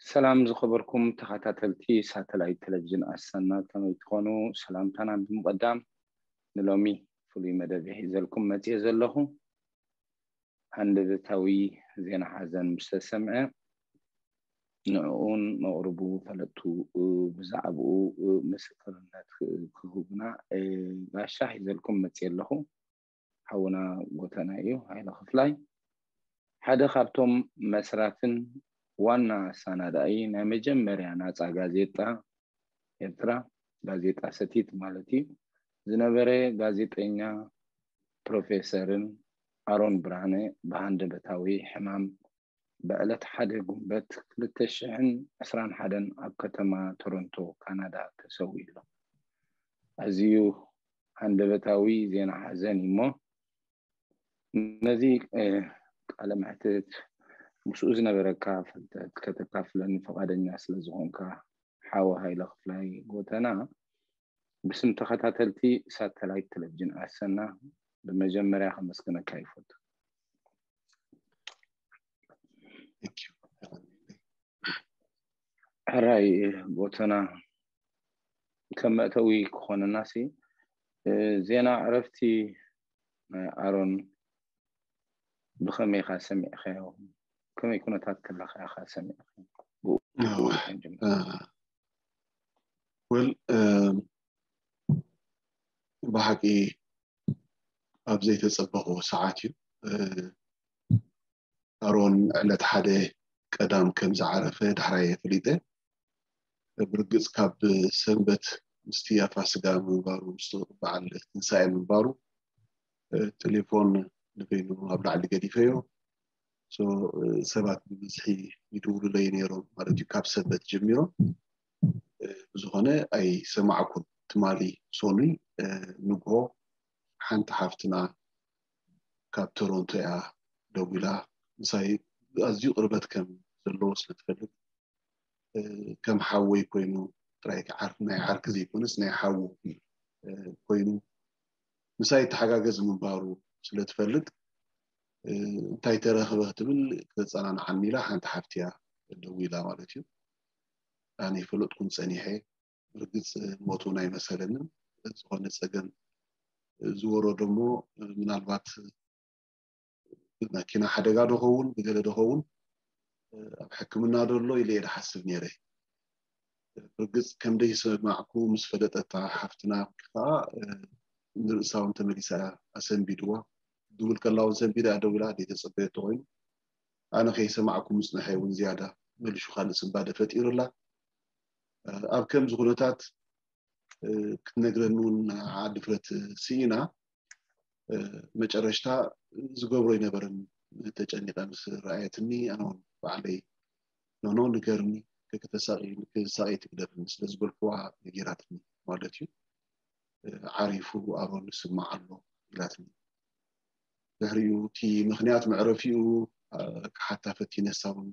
ሰላም ዝኸበርኩም ተኸታተልቲ ሳተላይት ቴሌቪዥን ኣሰና፣ ከመይ ትኾኑ? ሰላምታና ብምቕዳም፣ ንሎሚ ፍሉይ መደብ ሒዘልኩም መፅየ ዘለኹ። ሃንደበታዊ ዜና ሓዘን ምስ ተሰምዐ፣ ንዕኡን መቕርቡ ፈለጥቱ ብዛዕባኡ ምስክርነት ክህቡና ጋሻ ሒዘልኩም መፅየ ኣለኹ። ሓውና ጎተና እዩ፣ ሃይለ ክፍላይ። ሓደ ካብቶም መስራትን ዋና ኣሰናዳኢ ናይ መጀመርያ ናፃ ጋዜጣ ኤርትራ፣ ጋዜጣ ሰቲት ማለት እዩ፣ ዝነበረ ጋዜጠኛ ፕሮፌሰርን ኣሮን ብርሃነ ብሃንደበታዊ ሕማም ብዕለት ሓደ ጉንበት ክልተ ሽሕን ዕስራን ሓደን ኣብ ከተማ ቶሮንቶ ካናዳ ተሰዊኡ ኣሎ። ኣዝዩ ሃንደበታዊ ዜና ሓዘን እዩ እሞ፣ ነዚ ቃለ መሕትት ምስኡ ዝነበረካ ፍልጠት ከተካፍለኒ ፈቓደኛ ስለ ዝኾንካ፣ ሓወ ሃይለ ክፍላይ ጎተና፣ ብስም ተኸታተልቲ ሳተላይት ቴሌቪዥን ኣሰና ብመጀመርያ ከመስግነካ ይፈቱ። ሕራይ ጎተና፣ ከም መእተዊ ክኾነና ሲ፣ ዜና ዕረፍቲ ናይ ኣሮን ብኸመይ ኢኻ ሰሚዕካዮ? ከመይ ኩነታት ከለኻ ኢኻ ሰሚዕካዮ? ብኡ ክንጅምር። ወል ብሓቂ ኣብ ዘይተጸበኽዎ ሰዓት እዩ። ኣሮን ዕለት ሓደ ቀዳም ከም ዝዓረፈ ዳሕራይ ፈሊጠ። ብርግጽ ካብ ሰንበት ምስቲ ኣፋስጋ ምንባሩ፣ ምስ በዓል ትንሳኤ ምንባሩ፣ ቴሌፎን ንበይኑ ኣብ ላዕሊ ገዲፈዮ። ሰባት ብብዝሒ ይድውሉለይ ነይሮም ማለት እዩ፣ ካብ ሰንበት ጀሚሮም። ብዝኾነ ኣይሰማዕኩን። ትማሊ ሶኑይ ንግሆ ሓንቲ ሓፍትና ካብ ቶሮንቶ እያ ደዊላ። ምሳይ ኣዝዩ ቅርበት ከም ዘለዎ ስለ ትፈልጥ፣ ከም ሓወይ ኮይኑ፣ ጥራይ ዓርኪ፣ ናይ ዓርኪ ዘይኮነስ ናይ ሓዉ ኮይኑ ምሳይ ይተሓጋገዝ ምንባሩ ስለ ትፈልጥ፣ እንታይ ተረኽበ ክትብል ክተጸናንዓኒ ኢላ ሓንቲ ሓፍቲ እያ ደዊላ ማለት እዩ። ኣነ ይፈለጥኩን ጸኒሐ፣ ብርግጽ ሞት እውን ኣይመሰለንን። ዝኾነ ጸገም ዝወረዶ እሞ ምናልባት ብመኪና ሓደጋ ዶ ኸውን፣ ብገለ ዶ ኸውን፣ ኣብ ሕክምና ዶ ኣሎ ኢለ እየ ዝሓስብ ነይረ። ብርግጽ ከም ደይሰማዕኩ ምስ ፈለጠታ ሓፍትና ከዓ ንርእሳ እውን ተመሊሳ እያ ኣሰንቢድዋ። ድውል ከላ እውን ሰንቢዳ እያ ደዊላ፣ ዘይተጸበየቶ ኮይኑ። ኣነ ከይሰማዕኩ ምጽንሐ እውን ዝያዳ መሊሹ ካልእ ስንባደ ፈጢሩላ። ኣብ ከምዚ ኩነታት ክትነግረኒ እውን ንዓ ድፍረት ስኢና። መጨረሽታ ዝገብሮ ኣይነበረን። ተጨኒቐ ምስ ረኣየትኒ፣ ኣነ እውን ባዕለይ፣ ኖኖ፣ ንገርኒ፣ ከይተሳቒ፣ ከይተሳቐይ ትግደፍኒ ስለ ዝበልኩዋ ነጊራትኒ ማለት እዩ። ዓሪፉ ኣሮን ይስማዕ ኣሎ ኢላትኒ። ድሕሪኡ እቲ ምኽንያት መዕረፊኡ ክሓታ ፈቲነ፣ ንሳ እውን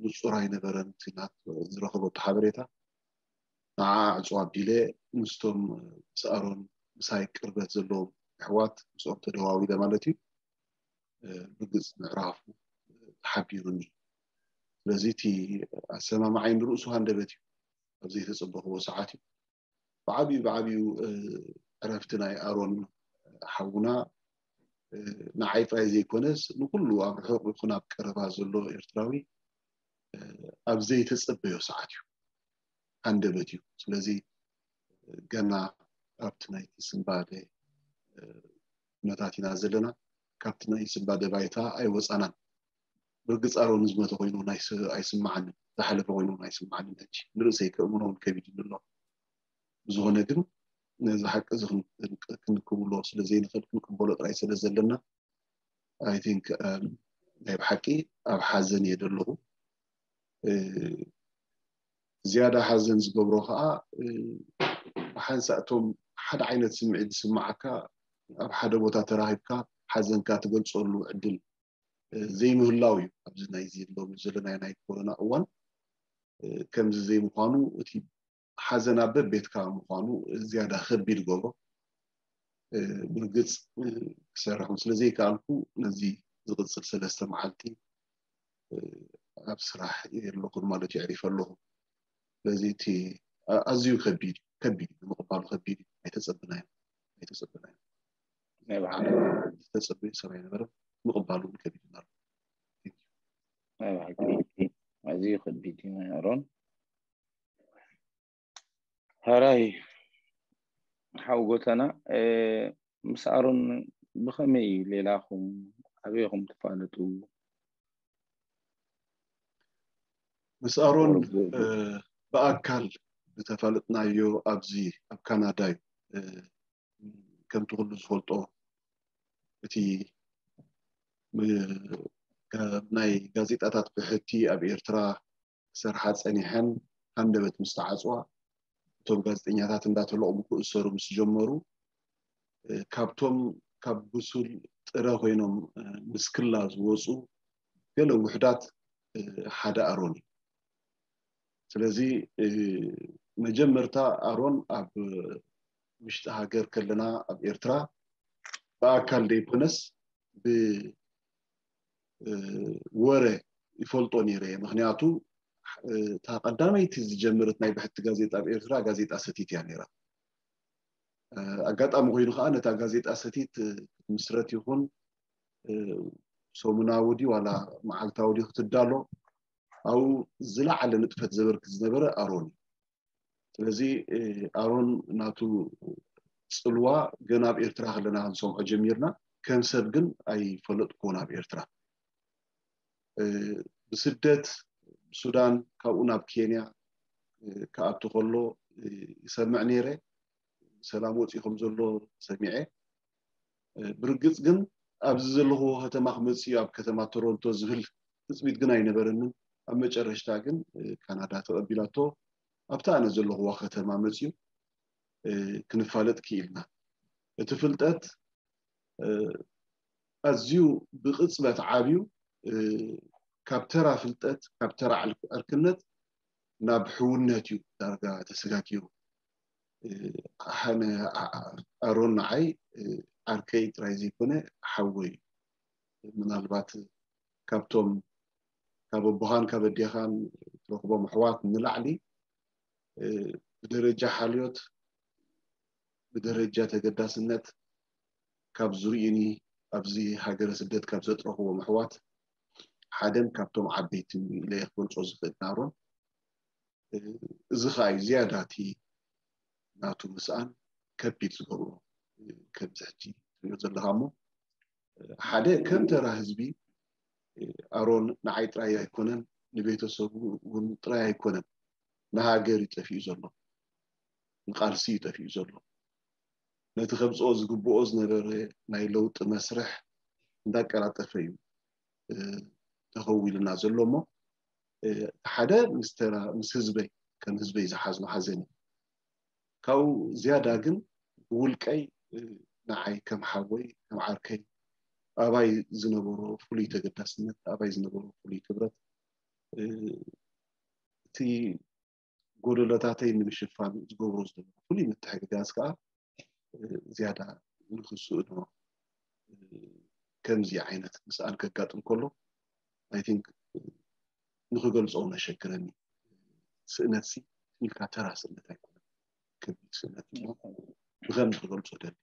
ንጹር ኣይነበረን እቲ ናት ዝረኸበቶ ሓበሬታ። ንዓ ዕጹው ኣቢለ ምስቶም ምስ ኣሮን ምሳይ ቅርበት ዘለዎም ኣሕዋት ምስኦም ተደዋዊለ ማለት እዩ። ብርግጽ ምዕራፉ ሓቢሩኒ። ስለዚ እቲ ኣሰማምዓይ ንርእሱ ሃንደበት እዩ፣ ኣብ ዘይተጸበኽዎ ሰዓት እዩ። ብዓብዩ ብዓብዩ ዕረፍቲ ናይ ኣሮን ሓውና ንዓይ ጥራይ ዘይኮነስ ንኩሉ ኣብ ርሑቕ ይኹን ኣብ ቀረባ ዘሎ ኤርትራዊ ኣብ ዘይተጸበዮ ሰዓት እዩ፣ ሃንደበት እዩ። ስለዚ ገና ኣብቲ ናይቲ ስንባደ ኩነታት ኢና ዘለና። ካብቲ ናይ ስንባደ ባይታ ኣይወጻናን። ብርግጽ ኣሮን ዝመተ ኮይኑ ኣይስማዓንን፣ ዝሓለፈ ኮይኑ ኣይስማዓንን። ሕጂ ንርእሰይ ከእምኖ እውን ከቢድኒ ኣሎ። ብዝኾነ ግን ነዚ ሓቂ እዚ ክንክብሎ ስለ ዘይንኽእል፣ ክንቅበሎ ጥራይ ስለ ዘለና፣ I think ናይ ብሓቂ ኣብ ሓዘን እየ ዘለኹ። ዝያዳ ሓዘን ዝገብሮ ከዓ ብሓንሳእ እቶም ሓደ ዓይነት ስምዒት ዝስምዓካ ኣብ ሓደ ቦታ ተራኺብካ ሓዘንካ ትገልጸሉ ዕድል ዘይምህላው እዩ። ኣብዚ ናይዚ ሎሚ ዘለናዮ ናይ ኮሮና እዋን ከምዚ ዘይምዃኑ፣ እቲ ሓዘን ኣብ በቤትካ ምዃኑ ዝያዳ ከቢድ ይገብሮ። ብርግጽ ክሰርሕ ስለ ዘይከኣልኩ፣ ነዚ ዝቕጽል ሰለስተ መዓልቲ ኣብ ስራሕ የለኹን ማለት የዕሪፈ ኣለኹ። ስለዚ እቲ ኣዝዩ ከቢድ ከቢድ እዩ፣ ንምቕባሉ ከቢድ እዩ። ኣይተጸበናዮ ኣይተጸበናዮ ናይ ብሓቂ ዝተጸበዩ ሰብ ኣይነበረን። ምቕባሉ እውን ከቢድ እዩ። ናይ ብሓቂ ኣዝዩ ከቢድ እዩ። ናይ ኣሮን ሕራይ ሓው ጎተና፣ ምስ ኣሮን ብኸመይ ሌላኹም ኣበይኹም ትፋለጡ? ምስ ኣሮን ብኣካል ዝተፋለጥናዮ ኣብዚ ኣብ ካናዳ እዩ። ከምቲ ኩሉ ዝፈልጦ፣ እቲ ናይ ጋዜጣታት ብሕቲ ኣብ ኤርትራ ክሰርሓ ጸኒሐን ሃንደበት ምስ ተዓጽዋ፣ እቶም ጋዜጠኛታት እንዳተለቕሙ ክእሰሩ ምስ ጀመሩ፣ ካብቶም ካብ ብሱል ጥረ ኮይኖም ምስ ክላ ዝወፁ ገለ ውሕዳት ሓደ ኣሮን እዩ። ስለዚ መጀመርታ ኣሮን ኣብ ውሽጢ ሃገር ከለና ኣብ ኤርትራ ብኣካል ዘይኮነስ ብወረ ይፈልጦ ነይረ እየ። ምክንያቱ እታ ቀዳመይቲ ዝጀመረት ናይ ብሕቲ ጋዜጣ ኣብ ኤርትራ ጋዜጣ ሰቲት እያ ነይራ። ኣጋጣሚ ኮይኑ ከዓ ነታ ጋዜጣ ሰቲት ክትምስረት ይኹን ሰሙናዊ ድዩ ዋላ መዓልታዊ ድዩ ክትዳሎ ኣብኡ ዝለዓለ ንጥፈት ዘበርክት ዝነበረ ኣሮን እዩ። ስለዚ ኣሮን ናቱ ፅልዋ ገና ኣብ ኤርትራ ከለና ክንሰምዖ ጀሚርና። ከም ሰብ ግን ኣይፈለጥኩዎን ኣብ ኤርትራ። ብስደት ብሱዳን ካብኡ ናብ ኬንያ ክኣቱ ከሎ ይሰምዕ ነይረ። ሰላም ወፂኡ ከም ዘሎ ሰሚዐ። ብርግፅ ግን ኣብዚ ዘለኹዎ ከተማ ክመፅእ እዩ ኣብ ከተማ ቶሮንቶ ዝብል ትፅቢት ግን ኣይነበረንን። ኣብ መጨረሽታ ግን ካናዳ ተቐቢላቶ ኣብታ ኣነ ዘለኹዋ ከተማ መፅኡ ክንፋለጥ ክኢልና። እቲ ፍልጠት ኣዝዩ ብቕፅበት ዓብዩ። ካብ ተራ ፍልጠት ካብ ተራ ዕርክነት ናብ ሕውነት እዩ ዳርጋ ተሰጋጊሩ። ኣሮን ንዓይ ዓርከይ ጥራይ ዘይኮነ ሓወይ እዩ። ምናልባት ካብቶም ካብ ኣቦኻን ካብ ኣዴኻን ትረኽቦም ኣሕዋት ንላዕሊ ብደረጃ ሓልዮት ብደረጃ ተገዳስነት ካብ ዝርእዩኒ ኣብዚ ሃገረ ስደት ካብ ዘጥረኽዎም ኣሕዋት ሓደን ካብቶም ዓበይቲ ኢለ ክገልጾ ዝኽእል ኣሮን። እዚ ከዓ እዩ ዝያዳ እቲ ናቱ ምስኣን ከቢድ ዝገብሮ። ከምዚ ሕጂ ትሪኦ ዘለካ እሞ ሓደ ከም ተራ ህዝቢ ኣሮን ንዓይ ጥራይ ኣይኮነን፣ ንቤተሰቡ እውን ጥራይ ኣይኮነን፣ ንሃገር እዩ ጠፊኡ ዘሎ፣ ንቃልሲ እዩ ጠፊኡ ዘሎ። ነቲ ከብፅኦ ዝግብኦ ዝነበረ ናይ ለውጢ መስርሕ እንዳቀላጠፈ እዩ ተኸዊልና ዘሎ እሞ ሓደ ምስ ተራ ምስ ህዝበይ ከም ህዝበይ ዝሓዝኖ ሓዘን እዩ። ካብኡ ዝያዳ ግን ብውልቀይ ንዓይ ከም ሓወይ ከም ዓርከይ ኣባይ ዝነበሮ ፍሉይ ተገዳስነት ኣባይ ዝነበሮ ፍሉይ ክብረት እቲ ጎደሎታተይ ንምሽፋን ዝገብሮ ዝነበሩ ፍሉይ ምትሕግጋዝ ከዓ ዝያዳ ንክስእኖ ከምዚ ዓይነት ምስኣን ከጋጥም ከሎ ኣይ ቲንክ ንክገልፆ እውን ኣሸግረኒ። ስእነት ሲ ኢልካ ተራ ስእነት ኣይኮነን፣ ከቢድ ስእነት እሞ ብከምዚ ክገልፆ ደሊ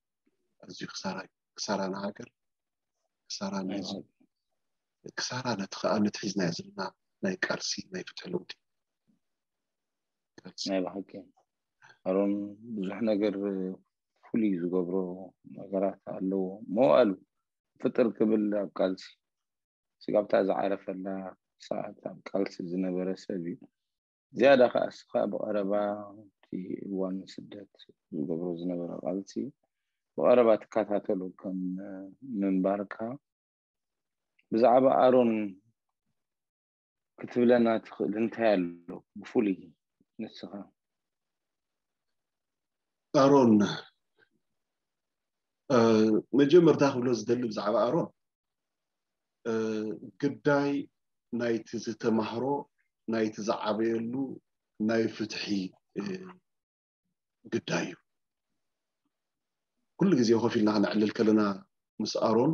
ኣዝዩ ክሳራ እዩ። ክሳራ ንሃገር፣ ክሳራ ንህዝቢ፣ ክሳራ ነቲ ከዓ ነቲ ሒዝናዮ ዘለና ናይ ቃልሲ ናይ ፍትሒ ለውጢ ናይ ብሓቂ ኣሮን ብዙሕ ነገር ፍሉይ ዝገብሮ ነገራት ኣለዎ። መዋእሉ ፍጥር ክብል ኣብ ቃልሲ ስጋብታ ዝዓረፈላ ሰዓት ኣብ ቃልሲ ዝነበረ ሰብ እዩ። ዝያዳ ከዓ እስኻ ብቐረባ እቲ እዋን ስደት ዝገብሮ ዝነበረ ቃልሲ ብቐረባ ትከታተሎ ከም ምንባርካ ብዛዕባ ኣሮን ክትብለና ትኽእል እንታይ ኣሎ ብፍሉይ ንስኻ? ኣሮን መጀመርታ ክብሎ ዝደሊ ብዛዕባ ኣሮን ግዳይ ናይቲ ዝተማህሮ ናይቲ ዝዓበየሉ ናይ ፍትሒ ግዳይ እዩ። ኩሉ ግዜ ኮፍ ኢልና ክነዕልል ከለና ምስ ኣሮን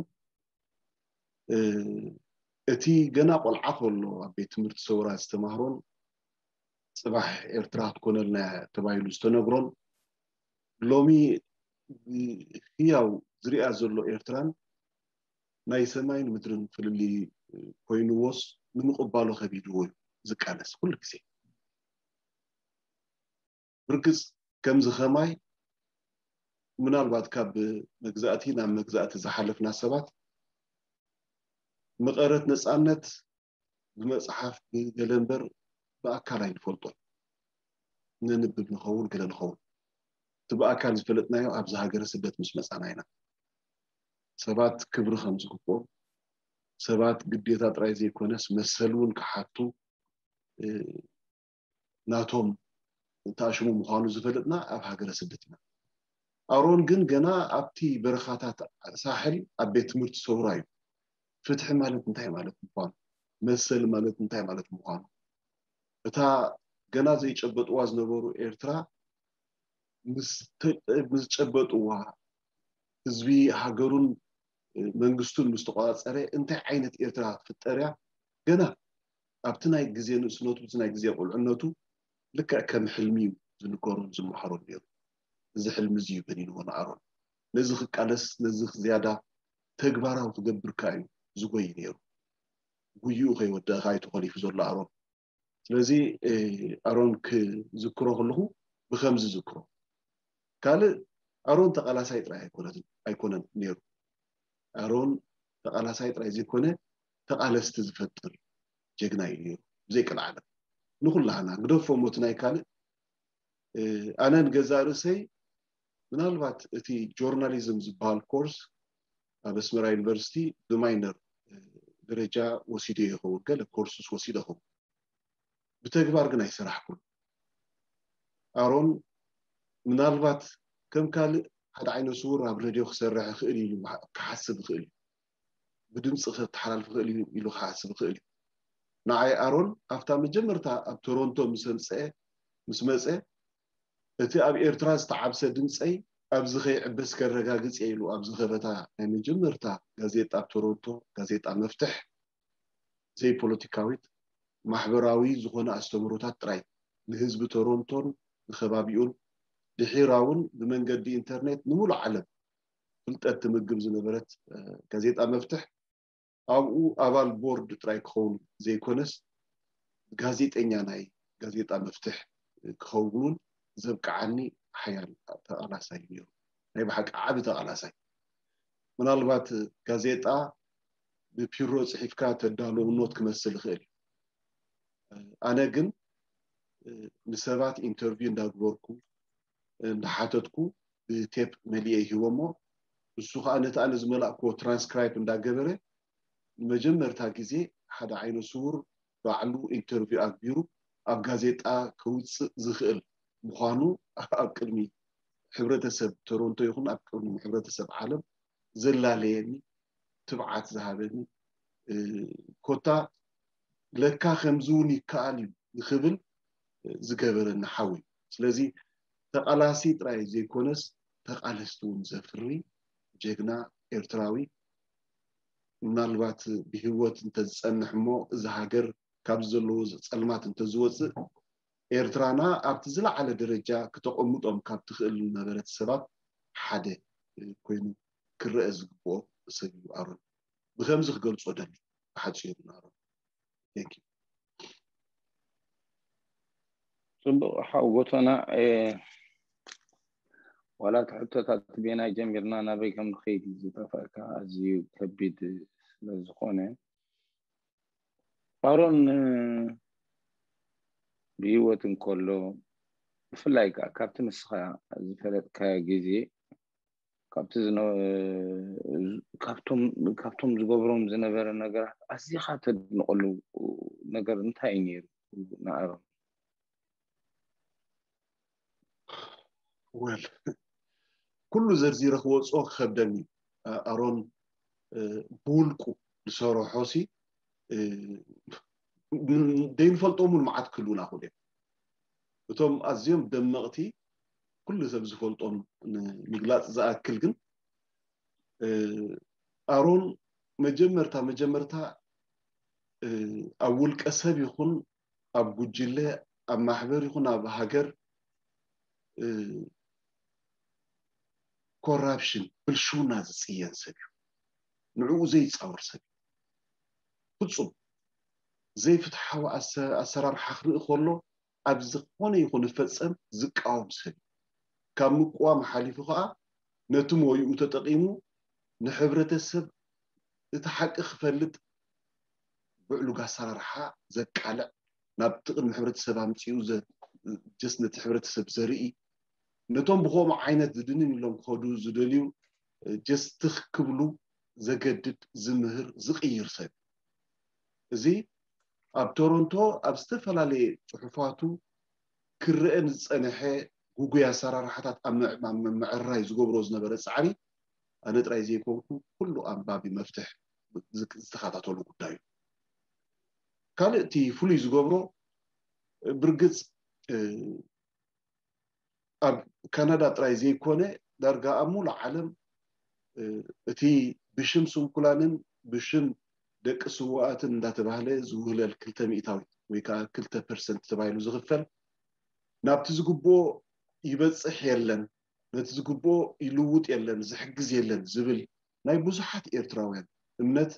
እቲ ገና ቆልዓ ከሎ ኣብ ቤት ትምህርቲ ሰውራ ዝተማህሮን ጽባሕ ኤርትራ ክትኮነልና ተባሂሉ ዝተነግሮን ሎሚ ህያው ዝሪኣ ዘሎ ኤርትራን ናይ ሰማይን ምድርን ፍልልይ ኮይንዎስ ንምቕባሉ ከቢድዎ እዩ ዝቃለስ ኩሉ ግዜ። ብርግጽ ከምዚ ከማይ ምናልባት ካብ መግዛእቲ ናብ መግዛእቲ ዝሓለፍና ሰባት መቐረት ነጻነት ብመጽሓፍ ብገለ እምበር ብኣካል ኣይንፈልጦን። ነንብብ ንኸውን ገለ ንኸውን። እቲ ብኣካል ዝፈለጥናዮ ኣብዚ ሃገረ ስደት ምስ መጻና ኢና። ሰባት ክብሪ ከም ዝግብኦም፣ ሰባት ግዴታ ጥራይ ዘይኮነስ መሰል እውን ክሓቱ ናቶም ተኣሽሙ ምዃኑ ዝፈለጥና ኣብ ሃገረ ስደት ኢና። ኣሮን ግን ገና ኣብቲ በረኻታት ሳሕል ኣብ ቤት ትምህርቲ ሰውራ እዩ። ፍትሒ ማለት እንታይ ማለት ምዃኑ፣ መሰል ማለት እንታይ ማለት ምዃኑ፣ እታ ገና ዘይጨበጥዋ ዝነበሩ ኤርትራ ምስ ጨበጥዋ፣ ህዝቢ ሃገሩን መንግስቱን ምስ ተቆጻጸረ እንታይ ዓይነት ኤርትራ ክትፍጠር እያ? ገና ኣብቲ ናይ ግዜ ንእስነቱ፣ እቲ ናይ ግዜ ቁልዕነቱ ልክዕ ከም ሕልሚ እዩ ዝንገሮን ዝመሃሮን ነይሩ። እዚ ሕልሚ እዚ እዩ በኒንዎ ንኣሮን። ነዚ ክቃለስ፣ ነዚ ዝያዳ ተግባራዊ ክገብር ከኣ እዩ ዝጎይ ነይሩ። ጉይኡ ከይወደእካ እዩ ተኾሊፉ ዘሎ ኣሮን። ስለዚ ኣሮን ክዝክሮ ከለኹ ብከምዚ ዝክሮ። ካልእ ኣሮን ተቃላሳይ ጥራይ ኣይኮነን ነይሩ። ኣሮን ተቃላሳይ ጥራይ ዘይኮነ ተቃለስቲ ዝፈጥር ጀግና እዩ ነይሩ። ብዘይ ቀልዓለም ንኩላህና ግደፎ ሞት ናይ ካልእ ኣነ ንገዛእ ርእሰይ ምናልባት እቲ ጆርናሊዝም ዝበሃል ኮርስ ኣብ ኣስመራ ዩኒቨርሲቲ ብማይነር ደረጃ ወሲደ ይኸውን፣ ገለ ኮርስስ ወሲደ ይኸውን። ብተግባር ግን ኣይሰራሕኩን። ኣሮን ምናልባት ከም ካልእ ሓደ ዓይነ ስውር ኣብ ሬድዮ ክሰርሕ ይኽእል ኢሉ ክሓስብ ይኽእል እዩ። ብድምፂ ከተሓላልፍ ይኽእል እዩ ኢሉ ክሓስብ ይኽእል እዩ። ንዓይ ኣሮን ኣብታ መጀመርታ ኣብ ቶሮንቶ ምስ ኣምፀአ ምስ መፀ እቲ ኣብ ኤርትራ ዝተዓብሰ ድምፀይ ኣብዚ ከይዕበስ ከረጋግፅ እየ ኢሉ ኣብ ዝኸፈታ ናይ መጀመርታ ጋዜጣ ኣብ ቶሮንቶ ጋዜጣ መፍትሕ ዘይፖለቲካዊት ማሕበራዊ ዝኾነ ኣስተምህሮታት ጥራይ ንህዝቢ ቶሮንቶን ንከባቢኡን ድሒራ እውን ብመንገዲ ኢንተርኔት ንሙሉእ ዓለም ፍልጠት ትምግብ ዝነበረት ጋዜጣ መፍትሕ ኣብኡ ኣባል ቦርድ ጥራይ ክኸውን ዘይኮነስ ጋዜጠኛ ናይ ጋዜጣ መፍትሕ ክኸውን እውን ዘብቅዓኒ ሓያል ተቓላሳይ እዩ ነይሩ። ናይ ብሓቂ ዓቢ ተቓላሳይ። ምናልባት ጋዜጣ ብፒሮ ጽሒፍካ ተዳሎ ኖት ክመስል ይኽእል እዩ። ኣነ ግን ንሰባት ኢንተርቪው እንዳግበርኩ እንዳሓተትኩ ብቴፕ መሊኤ ይህቦሞ። ንሱ ከዓ ነቲ ኣነ ዝመላእክዎ ትራንስክራይብ እንዳገበረ ንመጀመርታ ግዜ ሓደ ዓይነ ስውር ባዕሉ ኢንተርቪው ኣግቢሩ ኣብ ጋዜጣ ከውፅእ ዝኽእል ምዃኑ ኣብ ቅድሚ ሕብረተሰብ ቶሮንቶ ይኹን ኣብ ቅድሚ ሕብረተሰብ ዓለም ዘላለየኒ ትብዓት ዝሃበኒ ኮታ ለካ ከምዚ እውን ይከኣል እዩ ንክብል ዝገበረኒ ሓው እዩ። ስለዚ ተቓላሲ ጥራይ ዘይኮነስ ተቓለስቲ እውን ዘፍሪ ጀግና ኤርትራዊ ምናልባት ብህይወት እንተዝጸንሕ እሞ እዚ ሃገር ካብዚ ዘለዎ ጸልማት እንተዝወፅእ ኤርትራና ኣብቲ ዝለዓለ ደረጃ ክተቐምጦም ካብ ትኽእል ነበረት ሰባት ሓደ ኮይኑ ክረአ ዝግብኦ ሰብ እዩ ኣሮን። ብከምዚ ክገልጾ ደሊ ብሓጺሩ ንኣሮን። Thank you። ጽቡቕ ሓው ጎቶና ዋላ እቲ ሕቶታት ቤናይ ጀሚርና ናበይ ከም ንኸይድ ዝጠፍአካ ኣዝዩ ከቢድ ስለ ዝኾነ ኣሮን ብህይወት እንከሎ ብፍላይ ከዓ ካብቲ ንስኻ ዝፈለጥካዮ ግዜ ካብቲ ካብቶም ዝገብሮም ዝነበረ ነገራት ኣዚኻ ተድንቀሉ ነገር እንታይ እዩ ነይሩ ንኣሮን? ወል ኩሉ ዘርዚረ ክወፅኦ ክከብደኒ ኣሮን ብውልቁ ዝሰርሖ ሲ ዘይንፈልጦም እውን መዓት ክህልውና ክእሉ እዮም። እቶም ኣዝዮም ደመቕቲ ኩሉ ሰብ ዝፈልጦም ንምግላፅ ዝኣክል ግን ኣሮን መጀመርታ መጀመርታ ኣብ ውልቀ ሰብ ይኹን ኣብ ጉጅለ፣ ኣብ ማሕበር ይኹን ኣብ ሃገር ኮራፕሽን፣ ብልሽውና ዝፅየን ሰብ እዩ። ንዕኡ ዘይፃወር ሰብ እዩ። ፍፁም ዘይፍትሓዊ ኣሰራርሓ ክርኢ ከሎ ኣብ ዝኾነ ይኹን ፈፀም ዝቃወም ሰብ እዩ። ካብ ምቅዋም ሓሊፉ ከዓ ነቲ ሞይኡ ተጠቂሙ ንሕብረተሰብ እቲ ሓቂ ክፈልጥ ብዕሉግ ኣሰራርሓ ዘቃልዕ፣ ናብቲ ቅድሚ ሕብረተሰብ ኣምፂኡ ጀስ ነቲ ሕብረተሰብ ዘርኢ፣ ነቶም ብከምኡ ዓይነት ዝድንን ኢሎም ክኸዱ ዝደልዩ ጀስ ትኽ ክብሉ ዘገድድ፣ ዝምህር፣ ዝቕይር ሰብ። እዚ ኣብ ቶሮንቶ ኣብ ዝተፈላለየ ፅሑፋቱ ክረአን ዝፀንሐ ጉጉይ ኣሰራርሓታት ኣብ ምዕራይ ዝገብሮ ዝነበረ ፃዕሪ ኣነ ጥራይ ዘይኮንኩ ኩሉ ኣንባቢ መፍትሕ ዝተኸታተሉ ጉዳይ እዩ። ካልእ እቲ ፍሉይ ዝገብሮ ብርግፅ ኣብ ካናዳ ጥራይ ዘይኮነ ዳርጋ ኣብ ሙሉእ ዓለም እቲ ብሽም ስንኩላንን ብሽም ደቂ ስውኣትን እንዳተባህለ ዝውህለል ክልተ ሚእታዊት ወይ ከዓ ክልተ ፐርሰንት ተባሂሉ ዝኽፈል ናብቲ ዝግብኦ ይበፅሕ የለን፣ ነቲ ዝግብኦ ይልውጥ የለን፣ ዝሕግዝ የለን ዝብል ናይ ብዙሓት ኤርትራውያን እምነት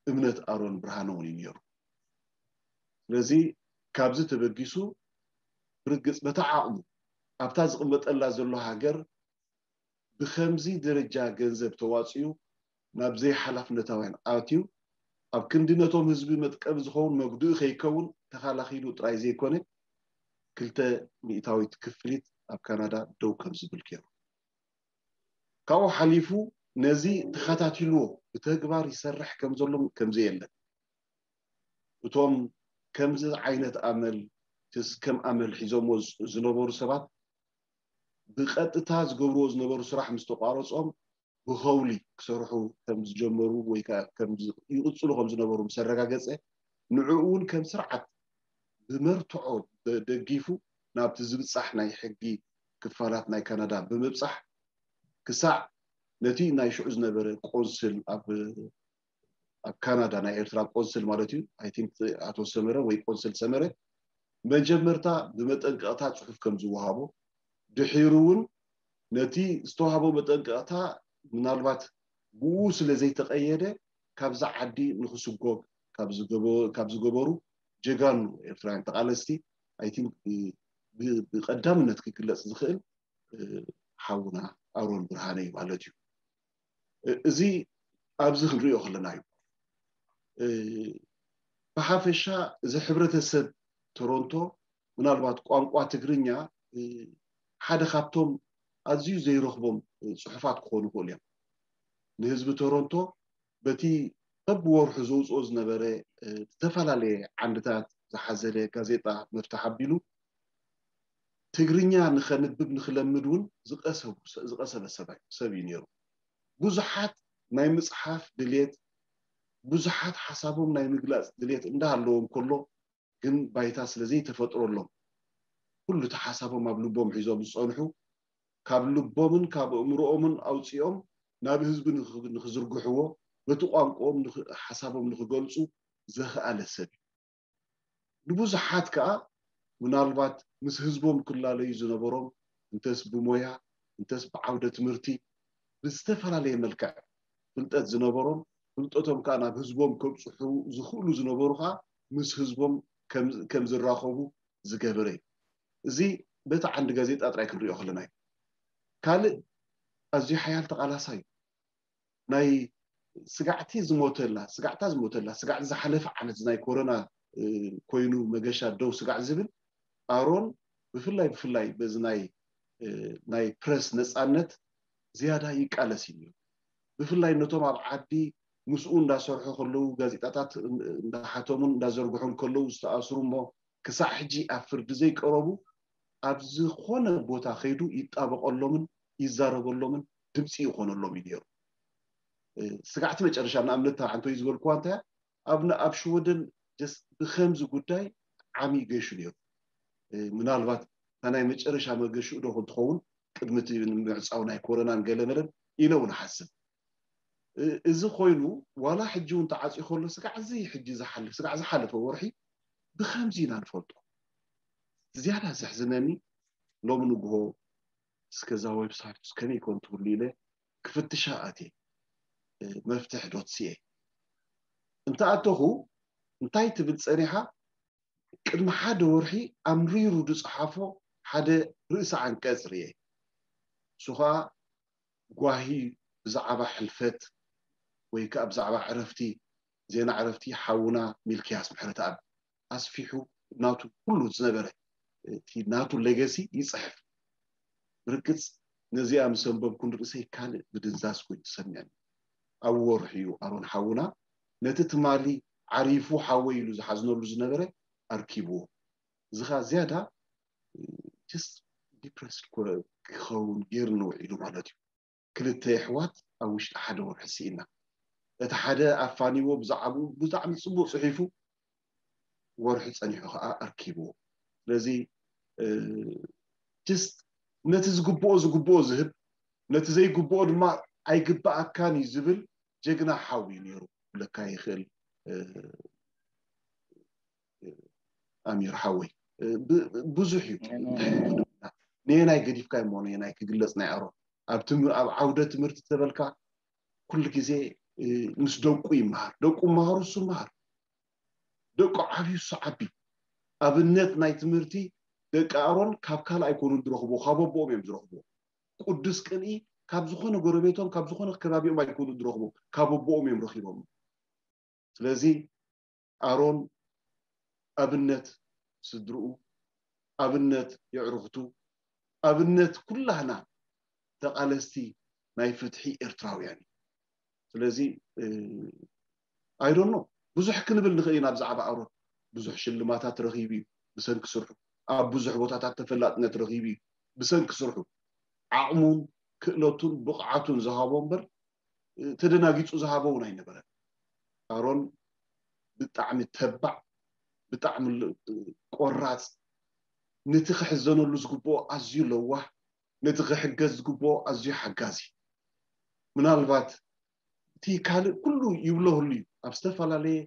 እምነት ኣሮን ብርሃነ እውን እዩ ነይሩ። ስለዚ ካብዚ ተበጊሱ ብርግፅ በታ ዓቕሙ ኣብታ ዝቕመጠላ ዘሎ ሃገር ብከምዚ ደረጃ ገንዘብ ተዋፅኡ ናብ ዘይሓላፍነታውያን ኣትዩ ኣብ ክንዲ ነቶም ህዝቢ መጥቀቢ ዝኸውን መጉድኢ ከይከውን ተኻላኺሉ ጥራይ ዘይኮነ ክልተ ሚእታዊት ክፍሊት ኣብ ካናዳ ደው ከም ዝብል ገይሩ። ካብኡ ሓሊፉ ነዚ ተኸታቲልዎ ብተግባር ይሰርሕ ከም ዘሎን ከም ዘየለን እቶም ከምዚ ዓይነት ኣመል ከም ኣመል ሒዞምዎ ዝነበሩ ሰባት ብቐጥታ ዝገብርዎ ዝነበሩ ስራሕ ምስ ተቋረጾም ብኸውሊ ክሰርሑ ከም ዝጀመሩ ወይ ከዓ ከም ይቕጽሉ ከም ዝነበሩ ምስ ኣረጋገጸ ንዕኡ እውን ከም ስርዓት ብመርትዖ ደጊፉ ናብቲ ዝብጻሕ ናይ ሕጊ ክፋላት ናይ ካናዳ ብምብጻሕ ክሳዕ ነቲ ናይ ሽዑ ዝነበረ ቆንስል ኣብ ኣብ ካናዳ ናይ ኤርትራ ቆንስል ማለት እዩ። I think ኣቶ ሰመረ ወይ ቆንስል ሰመረ መጀመርታ ብመጠንቀቕታ ጽሑፍ ከም ዝወሃቦ ድሒሩ እውን ነቲ ዝተዋህቦ መጠንቀቕታ ምናልባት ብኡ ስለ ዘይተቐየደ ካብዛ ዓዲ ንክስጎግ ካብ ዝገበሩ ጀጋኑ ኤርትራውያን ተቓለስቲ I think ብቐዳምነት ክግለፅ ዝኽእል ሓውና ኣሮን ብርሃነ እዩ ማለት እዩ። እዚ ኣብዚ ክንሪኦ ከለና እዩ። ብሓፈሻ እዚ ሕብረተሰብ ቶሮንቶ ምናልባት ቋንቋ ትግርኛ ሓደ ካብቶም ኣዝዩ ዘይረኽቦም ፅሑፋት ክኾኑ ይኽእሉ እዮም። ንህዝቢ ቶሮንቶ በቲ በብወርሑ ዘውፅኦ ዝነበረ ዝተፈላለየ ዓንድታት ዝሓዘለ ጋዜጣ መፍትሕ ኣቢሉ ትግርኛ ንኸንብብ ንኽለምድ እውን ዝቐሰበ ሰብ እዩ ነይሩ። ብዙሓት ናይ ምፅሓፍ ድሌት፣ ብዙሓት ሓሳቦም ናይ ምግላፅ ድሌት እንዳሃለዎም ከሎ ግን ባይታ ስለ ዘይተፈጥረሎም ኩሉ እቲ ሓሳቦም ኣብ ልቦም ሒዞም ዝፀንሑ ካብ ልቦምን ካብ ኣእምሮኦምን ኣውፂኦም ናብ ህዝቢ ንክዝርግሕዎ በቲ ቋንቋኦም ሓሳቦም ንክገልፁ ዘኽኣለ ሰብ እዩ። ንብዙሓት ከዓ ምናልባት ምስ ህዝቦም ክላለዩ ዝነበሮም እንተስ ብሞያ እንተስ ብዓውደ ትምህርቲ ብዝተፈላለየ መልክዕ ፍልጠት ዝነበሮም ፍልጠቶም ከዓ ናብ ህዝቦም ከብፅሑ ዝኽእሉ ዝነበሩ ከዓ ምስ ህዝቦም ከም ዝራኸቡ ዝገበረ እዩ። እዚ በቲ ዓንዲ ጋዜጣ ጥራይ ክንሪኦ ከለና እዩ። ካልእ ኣዝዩ ሓያል ተቓላሳይ ናይ ስጋዕቲ ዝሞተላ ስጋዕታ ዝሞተላ ስጋዕቲ ዝሓለፈ ዓመት ናይ ኮሮና ኮይኑ መገሻ ደው ስጋዕ ዝብል ኣሮን ብፍላይ ብፍላይ በዚ ናይ ናይ ፕረስ ነፃነት ዝያዳ ይቃለስ እዩ። ብፍላይ ነቶም ኣብ ዓዲ ምስኡ እንዳሰርሑ ከለዉ ጋዜጣታት እንዳሓተሙን እንዳዘርግሑን ከለዉ ዝተኣስሩ እሞ ክሳዕ ሕጂ ኣብ ፍርዲ ዘይቀረቡ ኣብ ዝኾነ ቦታ ከይዱ ይጣበቐሎምን ይዛረበሎምን ድምፂ ይኾነሎም እዩ ነይሩ። ስጋዕቲ መጨረሻ ንኣብነት ኣንቶይ ዝበልኩዋ እንታይ ኣብ ኣብ ሽወደን ብከምዚ ጉዳይ ዓሚ ገሹ ነይሩ። ምናልባት እታ ናይ መጨረሻ መገሽኡ ዶ ክትኸውን ቅድሚ እቲ ምዕፃው ናይ ኮረናን ገለመለን ኢለ እውን ሓስብ። እዚ ኮይኑ ዋላ ሕጂ እውን ተዓፅዩ ከሎ ስጋዕ እዚ ሕጂ ዝሓልፍ ስጋዕ ዝሓለፈ ወርሒ ብከምዚ ኢና ንፈልጦ። ዝያዳ ዘሕዝነኒ ሎም ንግሆ እስከዛ ዌብሳይት ከመይ ኮን ትብሉ ኢለ ክፍትሻ ኣትየ። መፍትሕ ዶት ሲኤ እንተኣተኹ እንታይ ትብል ፀኒሓ? ቅድሚ ሓደ ወርሒ ኣምሪሩ ዝፀሓፎ ሓደ ርእሰ ዓንቀፅ ርየ። እሱ ከዓ ጓሂ ብዛዕባ ሕልፈት ወይ ከዓ ብዛዕባ ዕረፍቲ ዜና ዕረፍቲ ሓውና ሚልክያስ ምሕረተኣብ ኣስፊሑ ናቱ ኩሉ ዝነበረ እቲ ናቱ ሌገሲ ይፅሕፍ። ብርግፅ ነዚኣ ምስ ኣንበብኩ ንርእሰይ ካልእ ምድንዛዝ ኮይኑ ዝሰምዐኒ። ኣብ ወርሒ እዩ ኣሮን ሓውና ነቲ ትማሊ ዓሪፉ ሓወይ ኢሉ ዝሓዝነሉ ዝነበረ ኣርኪብዎ። እዚ ኸዓ ዝያዳ ስ ዲፕረስድ ክኸውን ገይሩ ንውዒሉ ማለት እዩ። ክልተ ኣሕዋት ኣብ ውሽጢ ሓደ ወርሒ ስኢና። እቲ ሓደ ኣፋኒዎ ብዛዕባኡ ብጣዕሚ ፅቡቅ ፅሒፉ ወርሒ ፀኒሑ ከዓ ኣርኪብዎ። ስለዚ ጅስት ነቲ ዝግብኦ ዝግብኦ ዝህብ ነቲ ዘይግብኦ ድማ ኣይግብኣካን እዩ ዝብል ጀግና ሓው እዩ ነይሩ። ለካ ይኽእል ኣሚር ሓወይ ብዙሕ እዩ። ንየናይ ገዲፍካ እሞ ንየናይ ክግለፅ ናይ ኣሮ ኣብ ዓውደ ትምህርቲ ተበልካ ኩሉ ግዜ ምስ ደቁ ይመሃር። ደቁ መሃሩ እሱ መሃር። ደቁ ዓብዩ እሱ ዓቢ። ኣብነት ናይ ትምህርቲ ደቂ ኣሮን ካብ ካልእ ኣይኮኑን ዝረኽብዎ፣ ካብ ኣቦኦም እዮም ዝረኽብዎ። ቅዱስ ቅንኢ ካብ ዝኾነ ጎረቤቶም ካብ ዝኾነ ከባቢኦም ኣይኮኑን ዝረኽብዎ፣ ካብ ኣቦኦም እዮም ረኺቦም። ስለዚ ኣሮን ኣብነት ስድርኡ፣ ኣብነት የዕርኽቱ፣ ኣብነት ኩላህና ተቓለስቲ ናይ ፍትሒ ኤርትራውያን እዩ። ስለዚ ኣይዶኖ ብዙሕ ክንብል ንኽእል ኢና ብዛዕባ ኣሮን። ብዙሕ ሽልማታት ረኺቡ እዩ ብሰንኪ ስርሑ። ኣብ ብዙሕ ቦታታት ተፈላጥነት ረኺቡ እዩ ብሰንኪ ስርሑ። ዓቕሙን ክእለቱን ብቕዓቱን ዝሃቦ እምበር ተደናጊፁ ዝሃቦ እውን ኣይነበረን። ኣሮን ብጣዕሚ ተባዕ፣ ብጣዕሚ ቆራፅ፣ ነቲ ክሕዘነሉ ዝግብኦ ኣዝዩ ለዋህ፣ ነቲ ክሕገዝ ዝግብኦ ኣዝዩ ሓጋዚ። ምናልባት እቲ ካልእ ኩሉ ይብለህሉ እዩ። ኣብ ዝተፈላለየ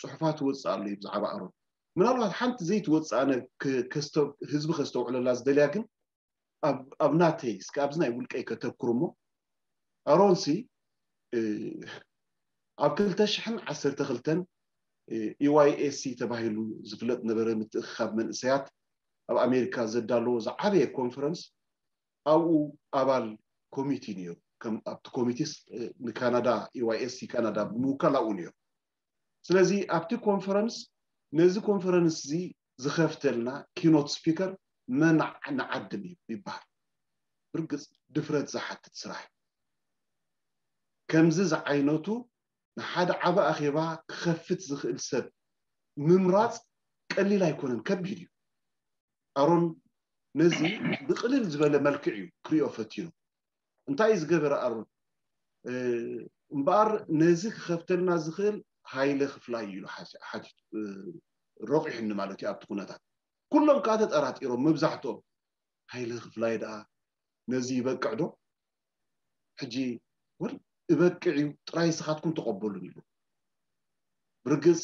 ፅሑፋት ይወፅእ ኣሎ እዩ ብዛዕባ ኣሮን። ምናልባት ሓንቲ ዘይትወፅእ ኣነ ህዝቢ ከስተውዕለላ ዝደልያ ግን ኣብ ናተይ እስከ ኣብዚ ናይ ውልቀይ ከተኩር እሞ ኣሮንሲ ኣብ ክልተ ሽሕን ዓሰርተ ክልተን ኢዋይኤሲ ተባሂሉ ዝፍለጥ ነበረ ምትእኽኻብ መንእሰያት ኣብ ኣሜሪካ ዘዳለዎ ዝዓበየ ኮንፈረንስ ኣብኡ ኣባል ኮሚቲ ነይሩ። ኣብቲ ኮሚቲስ ንካናዳ ኢዋይኤሲ ካናዳ ብምውካል ኣብኡ ነይሩ። ስለዚ ኣብቲ ኮንፈረንስ ነዚ ኮንፈረንስ እዚ ዝኸፍተልና ኪኖት ስፒከር መን ንዓድም እዩ ይበሃል። ብርግፅ ድፍረት ዝሓትት ስራሕ። ከምዚ ዝዓይነቱ ንሓደ ዓቢ ኣኼባ ክኸፍት ዝኽእል ሰብ ምምራፅ ቀሊል ኣይኮነን፣ ከቢድ እዩ። ኣሮን ነዚ ብቅልል ዝበለ መልክዕ እዩ ክሪኦ ፈቲኑ። እንታይ እዩ ዝገበረ ኣሮን? እምበኣር ነዚ ክኸፍተልና ዝኽእል ሃይለ ክፍላይ እዩ ኢሉ ሓቲቱ። ረቂሑኒ ማለት እዩ ኣብቲ ኩነታት። ኩሎም ከዓ ተጠራጢሮም መብዛሕትኦም። ሃይለ ክፍላይ ደኣ ነዚ ይበቅዕ ዶ? ሕጂ ወል እበቅዕ እዩ ጥራይ ንስኻትኩም ተቐበሉን ይብሉ። ብርግፅ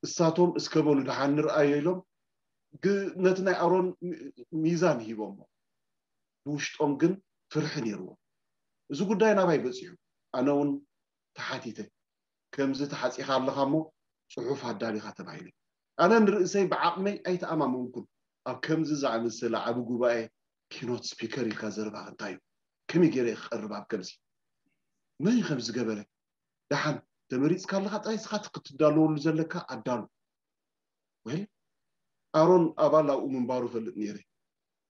እሳቶም እስከ በሉ ደሓን ንርኣዮ ኢሎም ነቲ ናይ ኣሮን ሚዛን ሂቦሞ። ብውሽጦም ግን ፍርሒ ነይርዎም። እዚ ጉዳይ ናባይ በፂሑ። ኣነ እውን ተሓቲተ። ከምዚ ተሓፂኻ ኣለኻ እሞ ፅሑፍ ኣዳሊኻ ተባሂሉ። ኣነ ንርእሰይ ብዓቕመይ ኣይተኣማመንኩን። ኣብ ከምዚ ዝኣመሰለ ዓቢ ጉባኤ ኪኖት ስፒከር ኢልካ ዘረባኻ እንታይ እዩ? ከመይ ገይረ ክቐርብ ኣብ ከምዚ? መን እዩ ከምዚ ገበረ? ደሓን ተመሪፅካ ኣለኻ ጥራይ ንስኻ ክትዳለወሉ ዘለካ ኣዳሉ። ወል ኣሮን ኣባል ኣብኡ ምንባሩ ፈልጥ ነይረ።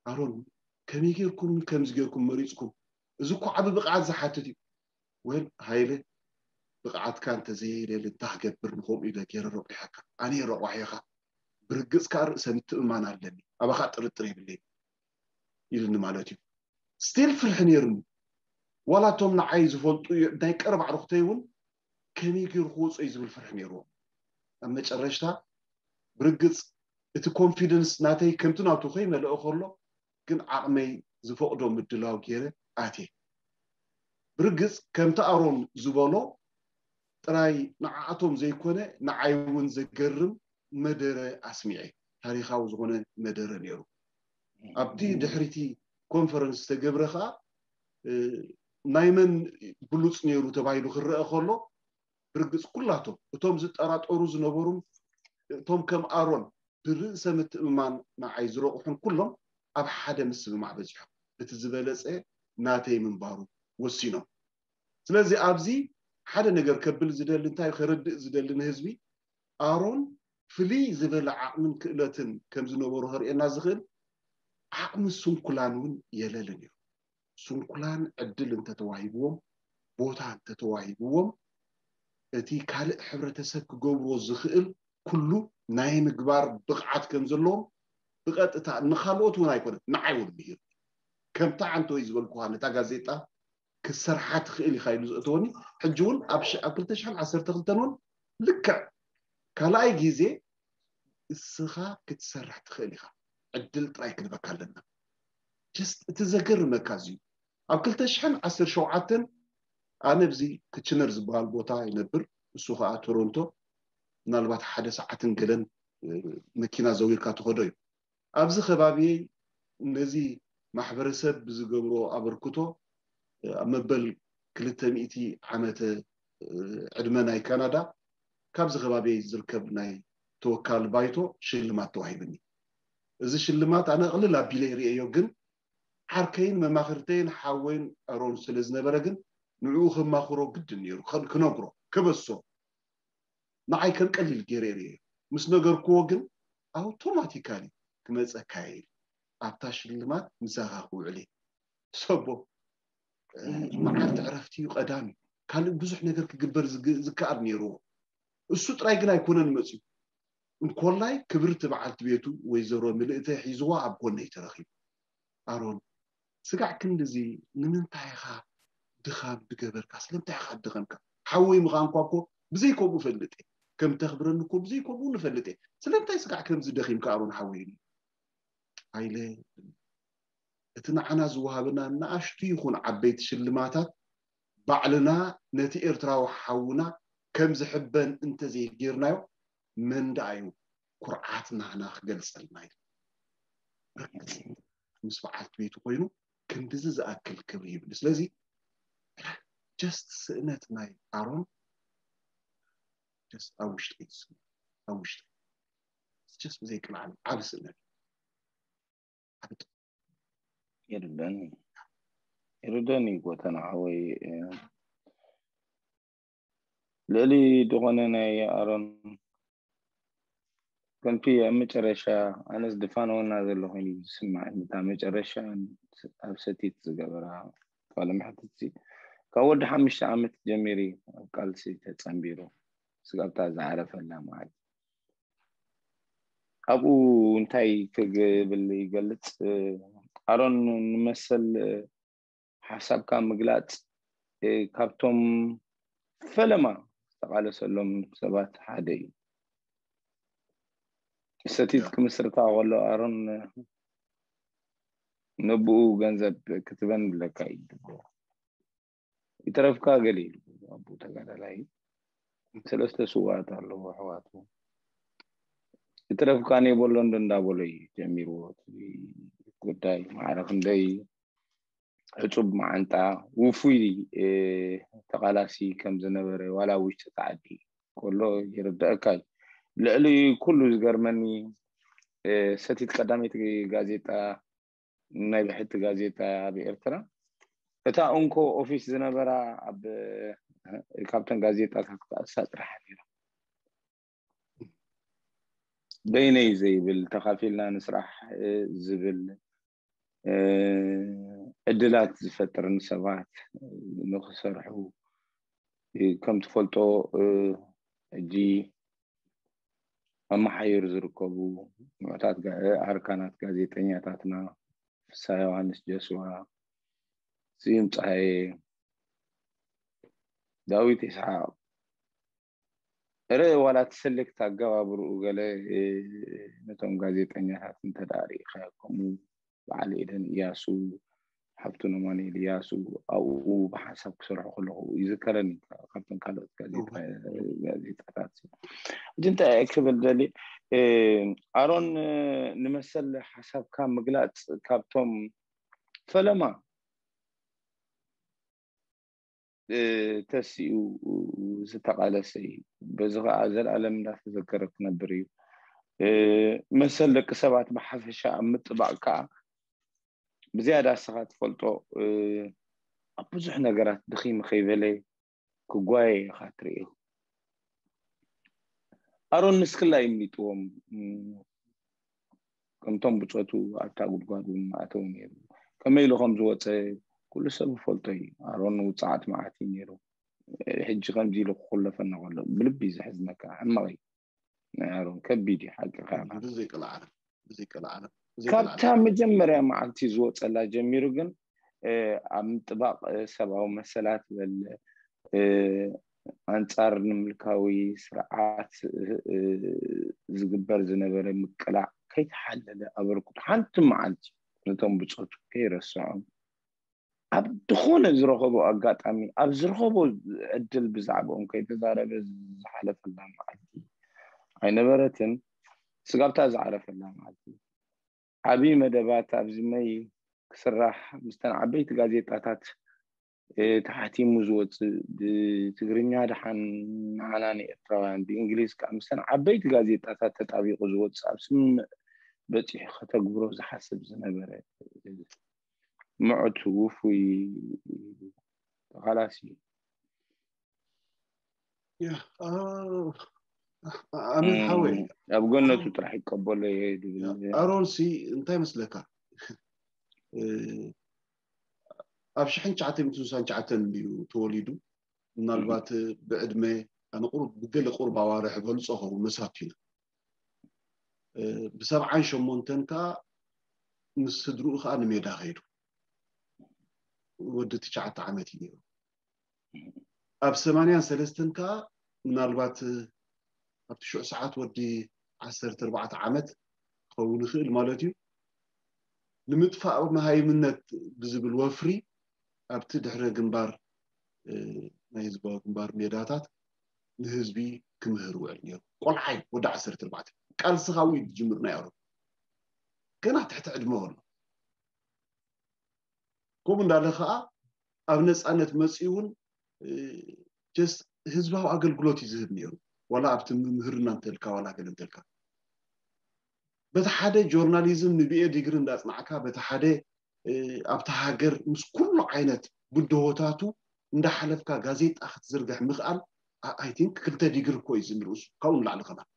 ኣሮን ከመይ ጌርኩም ከምዚ ጌርኩም መሪፅኩም? እዚ እኮ ዓቢ ብቕዓት ዝሓትት እዩ። ወል ሃይለ ብቕዓትካ እንተዘየይለሊ እንታይ ክገብር ንኸምኡ ኢለ ገይረ ረቑሓካ። ኣነ እየ ረቋሒኻ። ብርግፅ ከዓ ርእሰ ምትእምማን ኣለኒ። ኣባኻ ጥርጥር የብለይ ኢልኒ ማለት እዩ። ስቲል ፍርሒ ነይሩኒ። ዋላ እቶም ንዓይ ዝፈልጡ ናይ ቀረባ ኣዕሩኽተይ እውን ከመይ ገይሩ ክወፅኦ እዩ ዝብል ፍርሒ ነይርዎም። ኣብ መጨረሽታ ብርግፅ እቲ ኮንፊደንስ ናተይ ከምቲ ናቱ ከይመልኦ ከሎ ግን ዓቕመይ ዝፈቕዶ ምድላው ገይረ ኣትየ። ብርግፅ ከምቲ ኣሮን ዝበሎ ጥራይ ንዓኣቶም ዘይኮነ ንዓይ እውን ዘገርም መደረ ኣስሚዐ። ታሪኻዊ ዝኾነ መደረ ነይሩ። ኣብቲ ድሕሪቲ ኮንፈረንስ ዝተገብረ ከዓ ናይ መን ብሉፅ ነይሩ ተባሂሉ ክረአ ከሎ፣ ብርግፅ ኩላቶም እቶም ዝጠራጠሩ ዝነበሩን እቶም ከም ኣሮን ብርእሰ ምትእምማን ንዓይ ዝረቑሑን ኩሎም ኣብ ሓደ ምስምማዕ በፂሖም፣ እቲ ዝበለፀ ናተይ ምንባሩ ወሲኖም። ስለዚ ኣብዚ ሓደ ነገር ከብል ዝደሊ፣ እንታይ ከረድእ ዝደሊ ንህዝቢ፣ ኣሮን ፍልይ ዝበለ ዓቕምን ክእለትን ከም ዝነበሩ ከርእየና ዝኽእል ዓቕሚ ስንኩላን እውን የለልን እዩ። ስንኩላን ዕድል እንተተዋሂብዎም፣ ቦታ እንተተዋሂብዎም፣ እቲ ካልእ ሕብረተሰብ ክገብርዎ ዝኽእል ኩሉ ናይ ምግባር ብቕዓት ከም ዘለዎም ብቐጥታ ንኻልኦት እውን ኣይኮነን፣ ንዓይ እውን ምሂሩ። ከምታ ዓንተወይ ዝበልኩኻ፣ ነታ ጋዜጣ ክትሰርሓ ትኽእል ኢኻ ኢሉ ዘእተወኒ። ሕጂ እውን ኣብ ሽ- ኣብ ክልተ ሽሕን ዓሰርተ ክልተን እውን ልክዕ ካልኣይ ግዜ እስኻ ክትሰርሕ ትኽእል ኢኻ፣ ዕድል ጥራይ ክንበካ ኣለና። ጀስት እቲ ዘገርመካ እዚ እዩ። ኣብ ክልተ ሽሕን ዓሰርተ ሸውዓተን ኣነ ኣብዚ ክችነር ዝበሃል ቦታ ይነብር፣ እሱ ከዓ ቶሮንቶ፣ ምናልባት ሓደ ሰዓትን ገለን መኪና ዘዊርካ ትኸዶ እዩ። ኣብዚ ከባቢየይ ነዚ ማሕበረሰብ ብዝገብሮ ኣበርክቶ ኣብ መበል ክልተ ሚእቲ ዓመተ ዕድመ ናይ ካናዳ ካብዚ ከባቢየይ ዝርከብ ናይ ተወካል ባይቶ ሽልማት ተዋሂብኒ። እዚ ሽልማት ኣነ ቅልል ኣቢለ ይርእዮ፣ ግን ዓርከይን መማኽርተይን ሓወይን ኣሮን ስለ ዝነበረ ግን ንዕኡ ከማኽሮ ግድን ነይሩ፣ ክነግሮ፣ ከበሶ። ንዓይ ከም ቀሊል ገይረ ርእዮ። ምስ ነገርክዎ ግን ኣውቶማቲካሊ ክመፀካ እየ ኢሉ ኣብታ ሽልማት ምሳኻ ክውዕል እየ። ሰቦ መዓልቲ ዕረፍቲ እዩ፣ ቀዳም እዩ። ካልእ ብዙሕ ነገር ክግበር ዝከኣል ነይርዎ። እሱ ጥራይ ግን ኣይኮነን መፅዩ። እንኮላይ ክብርቲ በዓልቲ ቤቱ ወይዘሮ ምልእተ ሒዝዋ ኣብ ጎነይ ተረኺቡ። ኣሮን፣ ስጋዕ ክንድዚ ንምንታይ ኢኻ ድኻም ድገበርካ? ስለምንታይ ኢኻ ድኸምካ? ሓወይ ምዃንኳ እኮ ብዘይ ከምኡ ፈልጥ እየ። ከም ተኽብረኒ እኮ ብዘይ ከምኡ ንፈልጥ እየ። ስለምንታይ ስጋዕ ከምዚ ደኺምካ ኣሮን ሓወይ? ኢሉ። ሃይለ፣ እቲ ንዓና ዝወሃበና ንኣሽቱ ይኹን ዓበይቲ ሽልማታት ባዕልና ነቲ ኤርትራዊ ሓውና ከም ዝሕበን እንተዘይጌርናዮ መን ደኣ እዩ ኩርዓት ናህና ክገልጸልና ኢሉ። ብርግጽ ምስ በዓልቲ ቤቱ ኮይኑ ክንድዚ ዝኣክል ክብሪ ይብሉ። ስለዚ ጀስት ስእነት ናይ ኣሮን ጀስት ኣብ ውሽጢ ይስምዕ፣ ኣብ ውሽጢ ጀስት ብዘይ ቅልዓለም ዓቢ ስእነት። ይርደኒ ይርደኒ ጎተና ሓወይ። ልዕሊ ዝኾነ ናይ ኣሮን ከምቲ ኣብ መጨረሻ ኣነስ ድፋነወና ዘሎ ኮይኑ ዝስማዕ እታ መጨረሻ ኣብ ሰቲት ዝገበራ ቃለ መሕትት ካብ ወዲ ሓሙሽተ ዓመት ጀሚሪ ኣብ ቃልሲ ተጸንቢሩ ስጋብታ ዝዓረፈላ ማለት ኣብኡ እንታይ ክብል ይገልጽ ኣሮን ንመሰል ሓሳብካ ምግላጽ ካብቶም ፈለማ ዝተቓለሰሎም ሰባት ሓደ እዩ። ሰቲት ክምስርታ ከሎ ኣሮን ነብኡ ገንዘብ ክትበን ብለካ እዩ። ይትረፍካ ገለ ኢሉ ኣቦ ተጋዳላይ ሰለስተ ስዋኣት ኣለዎ ኣሕዋቱ። ይትረፍካ ኔቦሎ እንዶ እንዳበሎ እዩ ጀሚርዎ እቲ ጉዳይ። ማዕረ ክንደይ ዕጹብ መዓንጣ ውፉይ ተቓላሲ ከም ዝነበረ ዋላ ውሽጢ ጻዕዲ ከሎ ይርደአካ እዩ። ልዕሊ ኩሉ ዝገርመኒ ሰቲት ቀዳመይቲ ጋዜጣ ናይ ብሕቲ ጋዜጣ ኣብ ኤርትራ እታ እንኮ ኦፊስ ዝነበራ ኣብ ካብተን ጋዜጣታት እሳ ጥራሕ ነይራ። በይነይ ዘይብል ተኻፊልና ንስራሕ ዝብል ዕድላት ዝፈጥር ንሰባት ንክሰርሑ ከም ትፈልጦ ሕጂ ኣብ መሓይር ዝርከቡ ምዑታት ኣርካናት ጋዜጠኛታትና ፍስሃ ዮሃንስ ጀስዋ፣ ስዩም ፀሃየ፣ ዳዊት ይስሓቅ እረ ዋላ እቲ ሰሌክት ኣገባብርኡ ገለ ነቶም ጋዜጠኛታት እንተደኣ ርኢኻዮ ከምኡ በዓል ኤደን እያሱ ሃብቱ ነማንኤል እያሱ ኣብኡ ብሓንሳብ ክሰርሑ ከለኹ ይዝከረኒ። ካብቶም ካልኦት ጋዜጣ- ጋዜጣታት ሕጂ እንታይ እየ ክብል ደሊ ኣሮን፣ ንመሰል ሓሳብካ ምግላፅ ካብቶም ፈለማ ተሲኡ ዝተቓለሰ እዩ። በዚ ከዓ ዘላለም እንዳተዘከረ ክነብር እዩ። መሰል ደቂ ሰባት ብሓፈሻ ኣብ ምጥባቕ ከዓ ብዝያዳ ንስኻ ትፈልጦ ኣብ ብዙሕ ነገራት ድኺም ከይበለ ክጓየ ኢኻ ትርእዮ። ኣሮን ንስክላ ይምሊጥዎም ከምቶም ብፆቱ ኣብታ ጉድጓድ እውን ኣተው ነይሩ። ከመይ ኢሉ ከም ዝወፀ ኩሉ ሰብ ይፈልጦ እዩ። ኣሮን ውፅዓት መዓት እዩ ነይሩ። ሕጂ ከምዚ ኢሉ ክኩለፈና ከሎ ብልቢ እዩ ዘሕዝነካ። ሕማቕ እዩ ናይ ኣሮን፣ ከቢድ እዩ ሓቂ። ብዘይቀልዓለም ብዘይቀልዓለም ካብታ መጀመርያ መዓልቲ ዝወፀላ ጀሚሩ ግን ኣብ ምጥባቕ ሰብኣዊ መሰላት በል ኣንጻር ንምልካዊ ስርዓት ዝግበር ዝነበረ ምቅላዕ ከይተሓለለ ኣበርክቶ ሓንቲ መዓልቲ ነቶም ብጾቱ ከይረስዖም ኣብ ዝኾነ ዝረኸቦ ኣጋጣሚ ኣብ ዝረኸቦ ዕድል ብዛዕባኦም ከይተዛረበ ዝሓለፈላ መዓልቲ ኣይነበረትን። ስጋብታ ዝዓረፈላ መዓልቲ ዓብዪ መደባት ኣብዚ መይ ክስራሕ ምስተን ዓበይቲ ጋዜጣታት ተሓቲሙ ዝወፅእ ብትግርኛ ደሓን ንዓና ንኤርትራውያን ብእንግሊዝ ከዓ ምስተን ዓበይቲ ጋዜጣታት ተጣቢቑ ዝወፅእ ኣብ ስምምዕ በፂሑ ከተግብሮ ዝሓስብ ዝነበረ ምዑት ውፉይ ተቓላሲ እዩ። ኣሚን ሓወይ ኣብ ጎነቱ ጥራሕ ይቀበሎ እየ ድብል። ኣሮን ሲ እንታይ መስለካ? ኣብ ሽሕን ትሽዓተ ሚእትን ስሳን ትሽዓተን እዩ ተወሊዱ። ምናልባት ብዕድመ ኣነ ቁሩብ ብገለ ቁሩብ ኣዋርሕ በልፆ ኸውን መሳቱ ኢና። ብሰብዓን ሸሞንተን ከዓ ምስ ስድርኡ ከዓ ንሜዳ ከይዱ። ወዲ ትሽዓተ ዓመት እዩ ነይሩ። ኣብ ሰማንያን ሰለስተን ከዓ ምናልባት ኣብቲ ሽዑ ሰዓት ወዲ ዓሰርተ ኣርባዕተ ዓመት ክኸውን ይኽእል ማለት እዩ። ንምጥፋእ መሃይምነት ብዝብል ወፍሪ ኣብቲ ድሕረ ግንባር ናይ ህዝባዊ ግንባር ሜዳታት ንህዝቢ ክምህር ውዕል ነይሩ። ቆልዓይ ወዲ ዓሰርተ ኣርባዕተ ቃልሲ ካብኡ እዩ ዝጅምር ናይ ኣሮን ገና ትሕቲ ዕድመ ከሎ ከምኡ እንዳለ ከዓ ኣብ ነፃነት መፅኡ እውን just ህዝባዊ ኣገልግሎት እዩ ዝህብ ነይሩ። ዋላ ኣብቲ ምምህርና እንተልካ ዋላ ገለ እንተልካ በቲ ሓደ ጆርናሊዝም ንቢኤ ዲግሪ እንዳፅናዕካ በቲ ሓደ ኣብታ ሃገር ምስ ኩሉ ዓይነት ብድሆታቱ እንዳሓለፍካ ጋዜጣ ክትዝርግሕ ምኽኣል I think ክልተ ዲግሪ እኮ እዩ ዝንርእሱ ካብኡ ንላዕሊ ከማን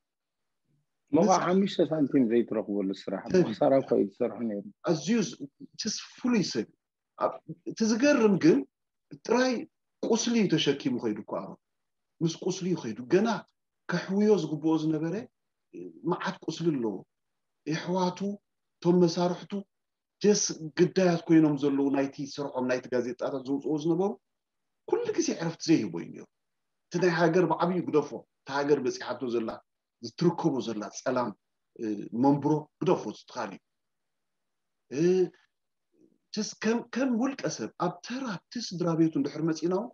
መባ ሓሙሽተ ሳንቲም ዘይትረኽበሉ ስራሕ ብክሳራ እኮ እዩ ዝሰርሑ ነይሩ። ኣዝዩ just ፍሉይ ሰብ እቲ ዝገርም ግን ጥራይ ቁስሊ እዩ ተሸኪሙ ከይዱ እኮ ኣሮን ምስ ቁስሊ እዩ ከይዱ ገና ከሕውዮ ዝግብኦ ዝነበረ መዓት ቁስሊ ኣለዎ የሕዋቱ እቶም መሳርሕቱ just ግዳያት ኮይኖም ዘለዉ ናይቲ ስርሖም ናይቲ ጋዜጣታት ዘውፅኦ ዝነበሩ ኩሉ ግዜ ዕረፍቲ ዘይህቦ እዩ ነይሩ እቲ ናይ ሃገር ብዓብዩ ግደፎ እቲ ሃገር በፂሓቶ ዘላ ዝትርከቦ ዘላ ፀላም መንብሮ ግደፎ ትኻል እዩ ከም ውልቀ ሰብ ኣብ ተራ እቲ ስድራ ቤቱ እንድሕር መፂና እውን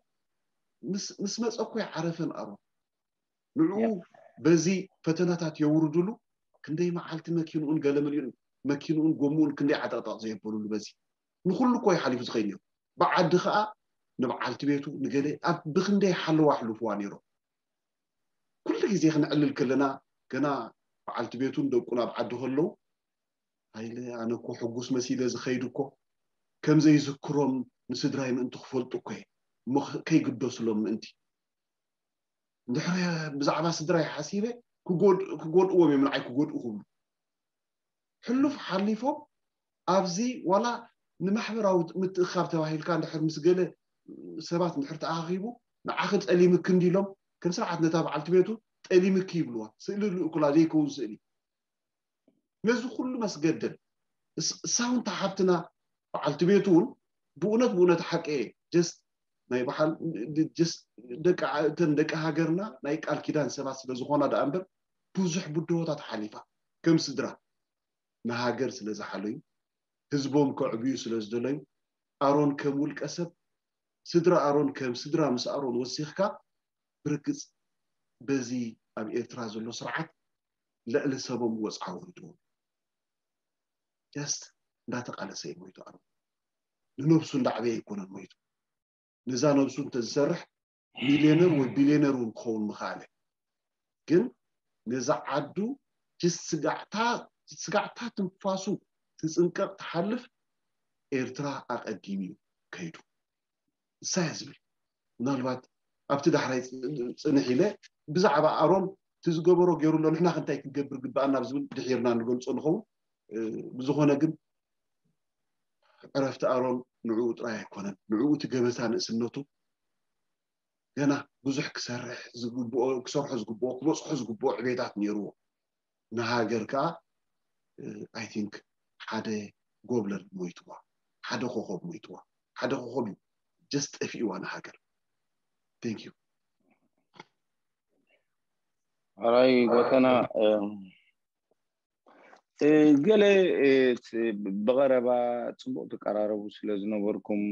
ምስ መፀ እኮ ይዓረፈን ኣሮን ንዕኡ በዚ ፈተናታት የውርድሉ ክንደይ መዓልቲ መኪንኡን ገለመሊኡን መኪንኡን ጎምኡን ክንደይ ዓጠቕጠቕ ዘየበሉሉ በዚ ንኩሉ እኮ ይሓሊፉ ዝኸይድ ነይሩ ብዓዲ ከዓ ንበዓልቲ ቤቱ ንገለ ኣብ ብክንደይ ሓለዋ ኣሕልፍዋ ነይሮም ኩሉ ግዜ ክንዕልል ከለና ገና በዓልቲ ቤቱን ደቁን ኣብ ዓዲ ከለዉ ሃይለ ኣነ እኮ ሕጉስ መሲለ ዝኸይድ እኮ ከም ዘይዝክሮም ንስድራይ ምእንቲ ክፈልጡ እኮ እየ እሞ ከይግደስሎም ምእንቲ እንድሕር ብዛዕባ ስድራይ ሓሲበ ክጎድእዎም እዮም ንዓይ ክጎድኡ ክብሉ ሕሉፍ ሓሊፎም ኣብዚ ዋላ ንማሕበራዊ ምትእኻብ ተባሂልካ እንድሕር ምስ ገለ ሰባት እንድሕር ተኣኻኺቡ ንዓኺ ጠሊምኪ እንዲሎም ከም ስርዓት ነታ በዓልቲ ቤቱ ጠሊምኪ ይብልዋ ስእሊ ልእኩላ ዘይከውን ስእሊ ነዚ ኩሉ መስገደል እሳውንታ ሓብትና በዓልቲ ቤቱ እውን ብእውነት ብእውነት ሓቂ እየ ጀስት ናይ በሓል ጀስት ደቂ እተን ደቂ ሃገርና ናይ ቃል ኪዳን ሰባት ስለ ዝኾና ደኣ እምበር ብዙሕ ብድሆታት ሓሊፋ ከም ስድራ ንሃገር ስለ ዝሓለዩ ህዝቦም ከዕብዩ ስለ ዝደለዩ ኣሮን ከም ውልቀ ሰብ፣ ስድራ ኣሮን ከም ስድራ ምስ ኣሮን ወሲኽካ፣ ብርግጽ በዚ ኣብ ኤርትራ ዘሎ ስርዓት ልዕሊ ሰቦም ወጽዓ ወሪድዎም። ጀስት እንዳተቃለሰ እዩ ሞይቱ። ኣሮን ንነብሱ እንዳዕበየ ኣይኮነን ሞይቱ። ነዛ ነብሱ እንተዝሰርሕ ሚልዮነር ወይ ቢልዮነር እውን ክኸውን ምኽኣለ። ግን ነዛ ዓዱ ጅስ ስጋዕታ ስጋዕታ ትንፋሱ ትጽንቀቕ ትሓልፍ ኤርትራ ኣቐዲሙ እዩ ከይዱ። እሳያ ዝብል ምናልባት ኣብቲ ዳሕራይ ጽንሕ ኢለ ብዛዕባ ኣሮን እቲ ዝገበሮ ገይሩ ኣሎ፣ ንሕና ክንታይ ክንገብር ግባኣና ዝብል ድሒርና ንገልጾ ንኸውን። ብዝኾነ ግን ዕረፍቲ ኣሮን ንዕኡ ጥራይ ኣይኮነን። ንዕኡ እቲ ገበታ ንእስነቱ ገና ብዙሕ ክሰርሕ ዝግብኦ ክሰርሖ ዝግብኦ ክበፅሖ ዝግብኦ ዕቤታት ነይርዎ። ንሃገር ከዓ ኣይ ቲንክ ሓደ ጎብለል ሞይትዋ፣ ሓደ ኮኸብ ሞይትዋ። ሓደ ኮኸብ እዩ ጀስት ጠፊእዋ ንሃገር። Thank you። ኣራይ ጎተና ገለ ብቐረባ ፅቡቅ ትቀራረቡ ስለ ዝነበርኩም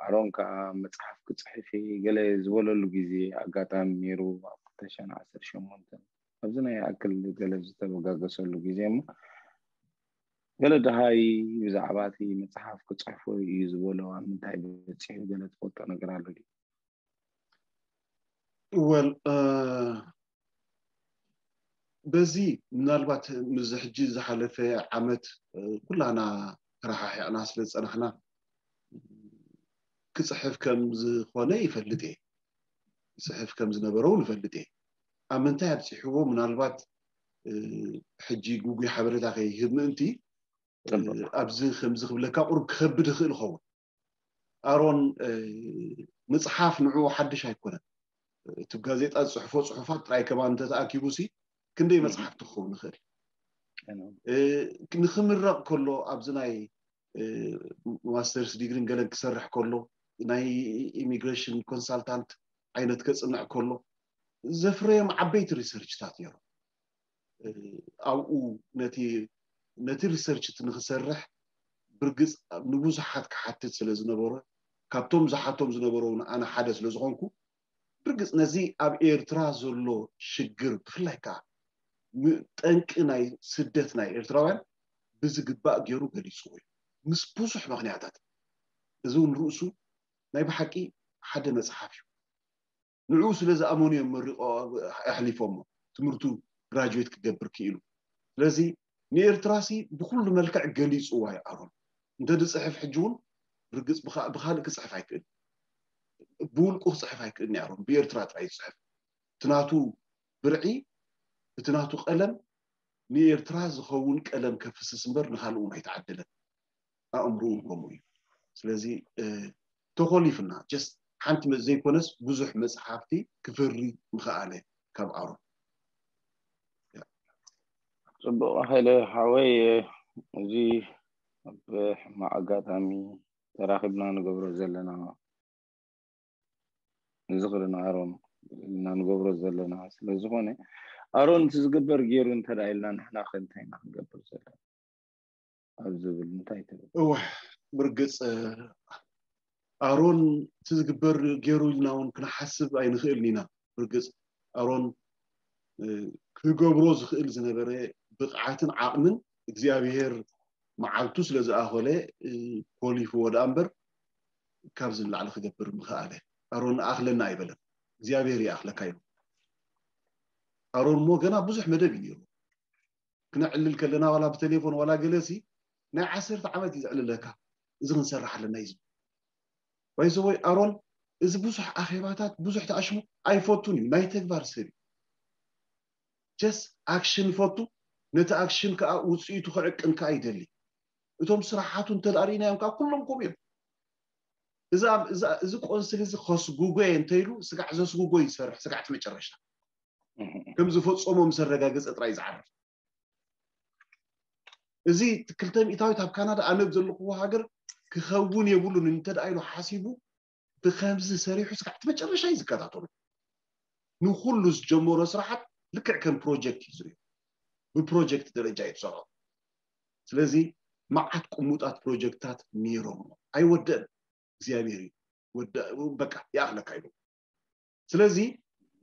ኣሮን ከዓ መፅሓፍ ክፅሕፊ ገለ ዝበለሉ ግዜ ኣጋጣሚ ነይሩ ኣብ ክልተ ሽሕን ዓሰርተ ሸሞንተን ኣብዚ ናይ ኣክል ገለ ዝተበጋገሰሉ ግዜ እሞ ገለ ደሃይ ብዛዕባ እቲ መፅሓፍ ክፅሕፎ እዩ ዝበሎ ኣብ ምንታይ በፂሑ ገለ ትፈልጦ ነገር ኣሎ ድዩ? ወል በዚ ምናልባት ምዚ ሕጂ ዝሓለፈ ዓመት ኩላና ተረሓሒቕና ስለ ዝፀናሕና ክፅሕፍ ከም ዝኾነ ይፈልጥ እየ። ክፅሕፍ ከም ዝነበረ እውን ይፈልጥ እየ። ኣብ ምንታይ ኣብፂሕዎ ምናልባት ሕጂ ጉጉይ ሓበሬታ ከይህብ ምእንቲ ኣብዚ ከምዚ ክብለካ ቁሩብ ክኸብድ ይኽእል ይኸውን። ኣሮን ምፅሓፍ ንዕኡ ሓድሽ ኣይኮነን። እቲ ጋዜጣ ዝፅሕፎ ፅሑፋት ጥራይ ከማን እንተተኣኪቡ ሲ ክንደይ መፅሓፍቲ ክኸውን ይኽእል። ንክምረቕ ከሎ ኣብዚ ናይ ማስተርስ ዲግሪን ገለን ክሰርሕ ከሎ ናይ ኢሚግሬሽን ኮንሳልታንት ዓይነት ከፅንዕ ከሎ ዘፍረዮም ዓበይቲ ሪሰርችታት ነይሮም። ኣብኡ ነቲ ነቲ ሪሰርች እቲ ንክሰርሕ ብርግፅ ንብዙሓት ክሓትት ስለ ዝነበረ ካብቶም ዝሓቶም ዝነበሩ ኣነ ሓደ ስለ ዝኾንኩ ብርግፅ ነዚ ኣብ ኤርትራ ዘሎ ሽግር ብፍላይ ከዓ ጠንቂ ናይ ስደት ናይ ኤርትራውያን ብዝግባእ ገይሩ ገሊፅዎ እዩ ምስ ብዙሕ ምክንያታት። እዚ እውን ርእሱ ናይ ብሓቂ ሓደ መፅሓፍ እዩ። ንዕኡ ስለ ዝኣመኑ እዮም መሪቆ ኣሕሊፎሞ ትምህርቱ ግራጁዌት ክገብር ክኢሉ። ስለዚ ንኤርትራሲ ብኩሉ መልክዕ ገሊፅዋ እዩ ኣሮን። እንተ ዝፅሕፍ ሕጂ እውን ርግፅ ብኻልእ ክፅሕፍ ኣይክእል፣ ብውልቁ ክፅሕፍ ኣይክእል ኣሮን ብኤርትራ ጥራይ ዝፅሕፍ እቲ ናቱ ብርዒ እቲ ናቱ ቀለም ንኤርትራ ዝኸውን ቀለም ከፍስስ እምበር ንካልእ እውን ኣይተዓደለን። ኣእምርኡ ከምኡ እዩ። ስለዚ ተኾሊፍና ጀስት ሓንቲ ዘይኮነስ ብዙሕ መፅሓፍቲ ክፈሪ ምኽኣለ ካብ ኣሮን። ፅቡቅ ሀይለ ሓወይ፣ እዚ ኣብ ሕማቅ ኣጋጣሚ ተራኺብና ንገብሮ ዘለና ንዝኽሪ ንኣሮን ኢልና ንገብሮ ዘለና ስለዝኾነ ኣሮን እቲ ዝግበር ገይሩ እንተ ኢልና ንሕና ከ እንታይ ኢና ክንገብር ዘለና ኣብ ዝብል እንታይ ትብል? እወ ብርግፅ ኣሮን እቲ ዝግበር ገይሩ ኢልና እውን ክንሓስብ ኣይንኽእልን ኢና። ብርግፅ ኣሮን ክገብሮ ዝኽእል ዝነበረ ብቕዓትን ዓቕምን እግዚኣብሄር መዓልቱ ስለ ዝኣኸለ ኮሊፍዎ ደኣ እምበር ካብዚ ንላዕሊ ክገብር ምኽኣለ። ኣሮን ኣኽለና ኣይበለን፣ እግዚኣብሄር ይኣኽለካ ኢሉ። ኣሮን እሞ ገና ብዙሕ መደብ እዩ ነይሩ። ክነዕልል ከለና ዋላ ብቴሌፎን ዋላ ገለሲ ናይ ዓሰርተ ዓመት እዩ ዘዕልለካ። እዚ ክንሰርሕ ኣለና እዩ ዝብል። ባይዘወይ ኣሮን እዚ ብዙሕ ኣኼባታት ብዙሕ ተኣሽሙ ኣይፈቱን እዩ። ናይ ተግባር ሰብ እዩ። ጀስ ኣክሽን ይፈቱ። ነቲ ኣክሽን ከዓ ውፅኢቱ ክዕቅን ከዓ ይደሊ። እቶም ስራሓቱ እንተደኣ ርኢናዮም ከዓ ኩሎም ከምኡ እዮም። እዚ ቆንስል እዚ ከስጉጎ እየ እንተኢሉ ስጋዕ ዘስጉጎ ይሰርሕ ስጋዕ እቲ መጨረሻ ከም ዝፈፀሞ ምስ ኣረጋገፀ ጥራይ ዝዓርፍ። እዚ ክልተ ሚእታዊት ኣብ ካናዳ ኣነ ዘለኹዎ ሃገር ክኸውን የብሉን እንተ ደኣ ኢሉ ሓሲቡ ብከምዚ ሰሪሑ ስጋዕ እቲ መጨረሻ እዩ ዝከታተሉ። ንኩሉ ዝጀመሮ ስራሓት ልክዕ ከም ፕሮጀክት እዩ ዝሪኦ። ብፕሮጀክት ደረጃ እዩ ዝሰርሖ። ስለዚ መዓት ቅሙጣት ፕሮጀክታት ነይሮም። ኣይወደእን። እግዚኣብሔር እዩ። በቃ ይኣኽለካ ኢሉ። ስለዚ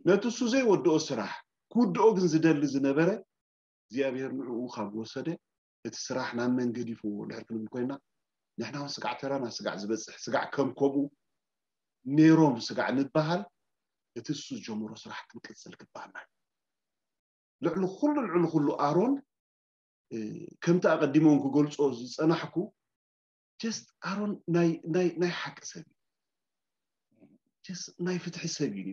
ነቲ እሱ ዘይወድኦ ስራሕ ክውድኦ ግን ዝደሊ ዝነበረ እግዚኣብሔር ንዕኡ ካብ ወሰደ እቲ ስራሕ ናብ መን ገዲፍዎ ድሕር ክንብል ኮይና ንሕና እውን ስጋዕ ተራና ስጋዕ ዝበፅሕ ስጋዕ ከም ከምኡ ነይሮም ስጋዕ ንበሃል እቲ እሱ ዝጀመሮ ስራሕ ክንቅፅል ግባና እዩ። ልዕሊ ኩሉ ልዕሊ ኩሉ ኣሮን ከምቲ ኣቐዲሞም ክገልፆ ዝፀናሕኩ ጀስት ኣሮን ናይ ሓቂ ሰብ እዩ። ናይ ፍትሒ ሰብ እዩ።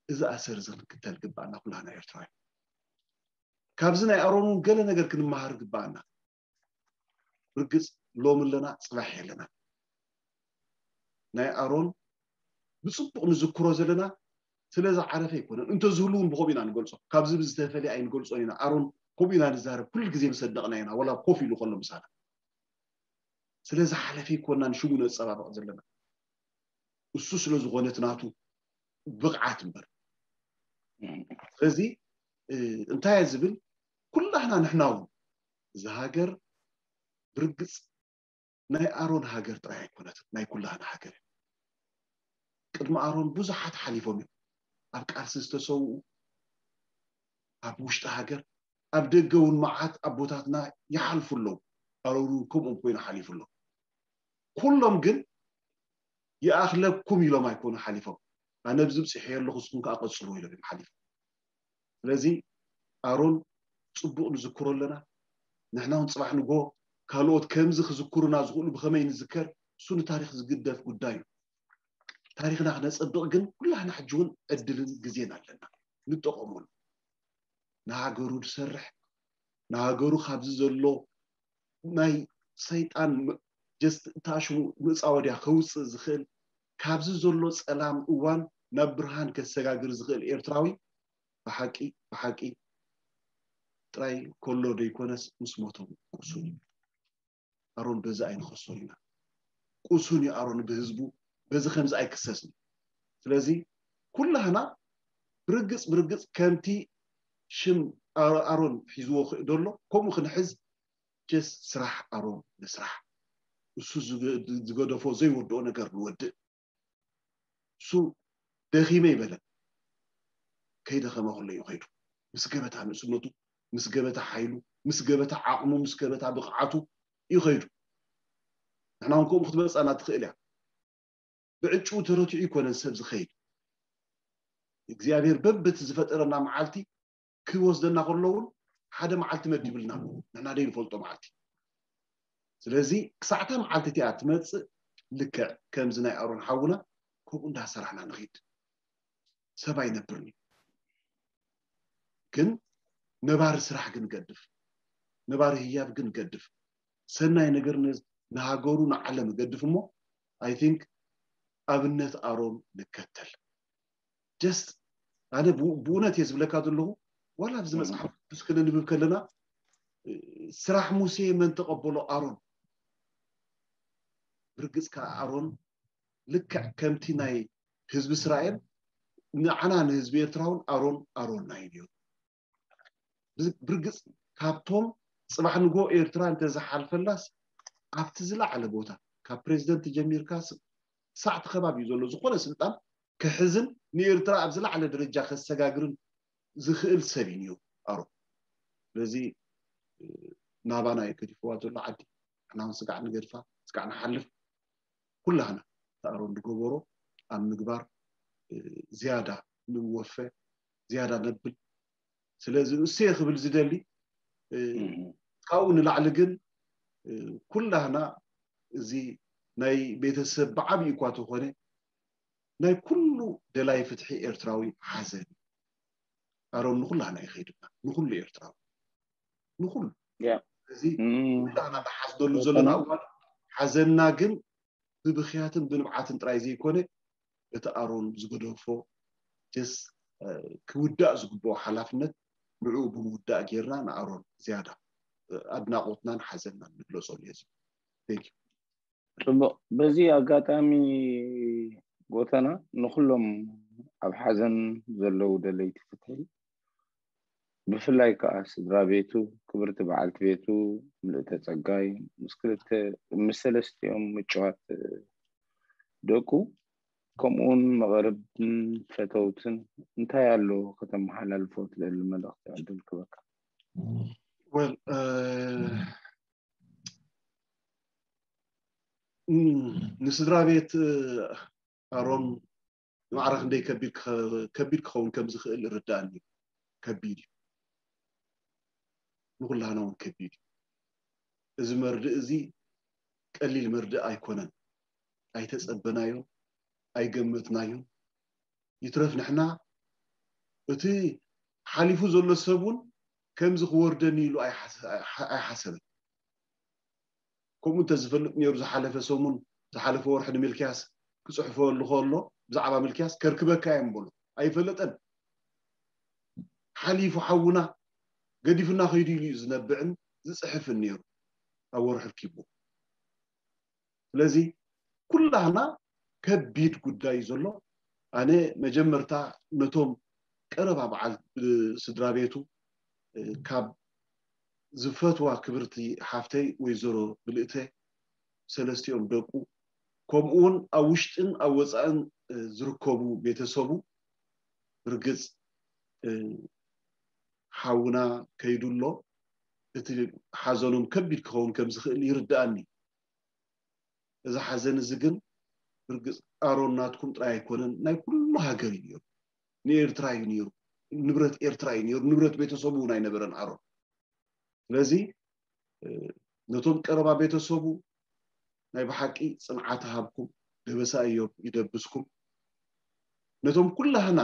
እዚ ኣሰር እዚ ክንክተል ግባኣና ኩላና ኤርትራውያን። ካብዚ ናይ ኣሮን እውን ገለ ነገር ክንመሃር ግባኣና። ብርግፅ ሎም ኣለና ፅባሕ የለና። ናይ ኣሮን ብፅቡቕ ንዝክሮ ዘለና ስለ ዝዓረፈ ኣይኮነን። እንተዝህሉ እውን ብኸምኡ ኢና ንገልፆ። ካብዚ ብዝተፈለየ ኣይንገልፆን ኢና። ኣሮን ከምኡ ኢና ንዛረብ። ኩሉ ግዜ ምስ ሰደቕና ኢና፣ ወላ ኮፍ ኢሉ ከሎ ምሳና። ስለ ዝሓለፈ ኣይኮንና ንሽሙ ነፀባብቕ ዘለና። እሱ ስለ ዝኾነ እቲ ናቱ ብቕዓት እምበር። ስለዚ እንታይ እየ ዝብል፣ ኩላህና ንሕና እውን እዛ ሃገር ብርግፅ ናይ ኣሮን ሃገር ጥራይ ኣይኮነትን፣ ናይ ኩላህና ሃገር። ቅድሚ ኣሮን ብዙሓት ሓሊፎም እዮም። ኣብ ቃልሲ ዝተሰውኡ፣ ኣብ ውሽጢ ሃገር፣ ኣብ ደገ እውን መዓት ኣቦታትና ይሓልፉ ኣለዉ። ኣሮን እውን ከምኦም ኮይኑ ሓሊፉ ኣሎ። ኩሎም ግን ይኣኽለኩም ኢሎም ኣይኮኑ ሓሊፎም። ኣነ ብዚ ብፅሐ ኣለኹ፣ ንስኹም ከዓ ቀፅልዎ ኢሎም እዮም ሓሊፎም። ስለዚ ኣሮን ፅቡቕ ንዝክሮ ኣለና። ንሕና እውን ፅባሕ ንጎ ካልኦት ከምዚ ክዝክሩና ዝኽእሉ ብኸመይ ንዝከር፣ እሱ ንታሪክ ዝግደፍ ጉዳይ እዩ። ታሪክና ክነፀብቕ ግን ኩላህና ሕጂ እውን ዕድልን ግዜን ኣለና፣ ንጠቐመሉ። ንሃገሩ ዝሰርሕ፣ ንሃገሩ ካብዚ ዘሎ ናይ ሰይጣን ጀስት እታሽሙ ምፃወድያ ከውፅእ ዝኽእል፣ ካብዚ ዘሎ ፀላም እዋን ናብ ብርሃን ከሰጋግር ዝኽእል ኤርትራዊ ብሓቂ ብሓቂ ጥራይ ከሎ ደይኮነስ ምስ ሞቶም ቁሱን እዩ። ኣሮን በዚ ኣይንኸሶን ኢና። ቁሱን እዩ ኣሮን ብህዝቡ፣ በዚ ከምዚ ኣይክሰስን። ስለዚ ኩላህና ብርግፅ ብርግፅ ከምቲ ሽም ኣሮን ሒዝዎ ደሎ ከምኡ ክንሕዝ ጀስት ስራሕ ኣሮን ንስራሕ። እሱ ዝገደፎ ዘይወድኦ ነገር ንወድእ። እሱ ደኺመ ይበለን። ከይደኸመ ከሎ እዩ ከይዱ። ምስ ገበታ ንእስነቱ፣ ምስ ገበታ ሓይሉ፣ ምስ ገበታ ዓቕሙ፣ ምስ ገበታ ብቕዓቱ እዩ ከይዱ። ንሕና እውን ከምኡ ክትመፅኣና ትኽእል እያ። ብዕጭኡ ተረቲዑ ይኮነን ሰብ ዝኸይድ። እግዚኣብሔር በብቲ ዝፈጠረና መዓልቲ ክወስደና ከሎ እውን ሓደ መዓልቲ መዲብልና ኣሎ። ንሕና ደይ ንፈልጦ መዓልቲ። ስለዚ ክሳዕታ መዓልቲ እቲኣ ትመፅእ ልክዕ ከምዚ ናይ ኣሮን ሓውና ከምኡ እንዳሰራሕና ንኺድ። ሰብ ኣይነብርን እዩ። ግን ነባሪ ስራሕ ግን ገድፍ፣ ነባሪ ህያብ ግን ገድፍ፣ ሰናይ ነገር ንሃገሩ ንዓለም ገድፍ እሞ ኣይ ቲንክ ኣብነት ኣሮን ንከተል። ጀስት ኣነ ብእውነት እየ ዝብለካ ዘለኹ። ዋላ ኣብዚ መፅሓፍ ቅዱስ ክነንብብ ከለና ስራሕ ሙሴ መን ተቐበሎ? ኣሮን። ብርግፅ ከዓ ኣሮን ልክዕ ከምቲ ናይ ህዝቢ እስራኤል ንዓና ንህዝቢ ኤርትራ እውን ኣሮን ኣሮንና እዩ ነይሩ። ብርግፅ ካብቶም ፅባሕ ንጎ ኤርትራ እንተዝሓልፈላስ ኣብቲ ዝለዓለ ቦታ ካብ ፕሬዚደንት ጀሚርካ ሳዕቲ ከባቢ እዩ ዘሎ ዝኾነ ስልጣን ክሕዝን ንኤርትራ ኣብ ዝለዓለ ደረጃ ከሰጋግርን ዝኽእል ሰብ እዩ ነይሩ ኣሮን። ስለዚ ናባና እዩ ገዲፍዋ ዘሎ ዓዲ። ንሕና እውን ስጋዕ ንገድፋ፣ ስጋዕ ንሓልፍ። ኩላህና እቲ ኣሮን ዝገበሮ ኣብ ምግባር ዝያዳ ንወፈ፣ ዝያዳ ነብል። ስለዚ እሰየ ክብል ዝደሊ ካብኡ ንላዕሊ ግን ኩላህና እዚ ናይ ቤተሰብ ብዓብዩ እኳ ተኾነ ናይ ኩሉ ደላይ ፍትሒ ኤርትራዊ ሓዘን እዩ። ኣሮን ንኩላህና ይኸይድና፣ ንኩሉ ኤርትራዊ፣ ንኩሉ። እዚ ኩላህና ንሓዝነሉ ዘለና እዋን ሓዘንና ግን ብብኽያትን ብንብዓትን ጥራይ ዘይኮነ እቲ ኣሮን ዝገደፎ ጀስ ክውዳእ ዝግብኦ ሓላፍነት ንዕኡ ብምውዳእ ጌርና ንኣሮን ዝያዳ ኣድናቖትናን ሓዘንናን ንግለጸሉ እየ ዝብል። Thank you። ጽቡቕ። በዚ ኣጋጣሚ ጎተና ንኹሎም ኣብ ሓዘን ዘለዉ ደለይቲ ፍትሒ ብፍላይ ከዓ ስድራ ቤቱ፣ ክብርቲ በዓልቲ ቤቱ ምልእተ ጸጋይ፣ ምስ ክልተ ምስ ሰለስቲኦም ምጭዋት ደቁ፣ ከምኡውን መቐርብን ፈተውትን እንታይ ኣሎ ከተመሓላልፎ ትደሊ መልእኽቲ ዕድል ክበካ? ወል ንስድራ ቤት ኣሮን ማዕረ ክንደይ ከቢድ ከቢድ ክኸውን ከም ዝኽእል ይርዳእኒ። ከቢድ እዩ፣ ንኩላህና እውን ከቢድ እዩ። እዚ መርድእ እዚ ቀሊል መርድእ ኣይኮነን። ኣይተጸበናዮን ኣይገመትናዮን። ይትረፍ ንሕና እቲ ሓሊፉ ዘሎ ሰብ እውን ከምዚ ክወርደኒ ኢሉ ኣይሓሰበን። ከምኡ እንተዝፈልጥ ነይሩ ዝሓለፈ ሰሙን ዝሓለፈ ወርሒ ንምልክያስ ክፅሕፈሉ ከሎ ብዛዕባ ምልክያስ ከርክበካ እዮም በሎ። ኣይፈለጠን። ሓሊፉ ሓውና ገዲፍና ከይዱ ኢሉ እዩ ዝነብዕን ዝፅሕፍን ነይሩ ኣብ ወርሒ ርኪቡ። ስለዚ ኩላህና ከቢድ ጉዳይ ዘሎ ኣነ መጀመርታ ነቶም ቀረባ በዓል ስድራ ቤቱ ካብ ዝፈትዋ ክብርቲ ሓፍተይ ወይዘሮ ብልእተ ሰለስቲኦም ደቁ ከምኡ እውን ኣብ ውሽጥን ኣብ ወፃእን ዝርከቡ ቤተሰቡ ርግፅ ሓውና ከይዱ ኣሎ። እቲ ሓዘኖም ከቢድ ክኸውን ከም ዝኽእል ይርድኣኒ። እዚ ሓዘን እዚ ግን ርግፅ ኣሮን ናትኩም ጥራይ ኣይኮነን፣ ናይ ኩሉ ሃገር እዩ ነይሩ። ንኤርትራ እዩ ነይሩ፣ ንብረት ኤርትራ እዩ ነይሩ፣ ንብረት ቤተሰቡ እውን ኣይነበረን ኣሮን። ስለዚ ነቶም ቀረባ ቤተሰቡ ናይ ብሓቂ ፅንዓት ሃብኩም፣ ደበሳ እዮም ይደብስኩም። ነቶም ኩላህና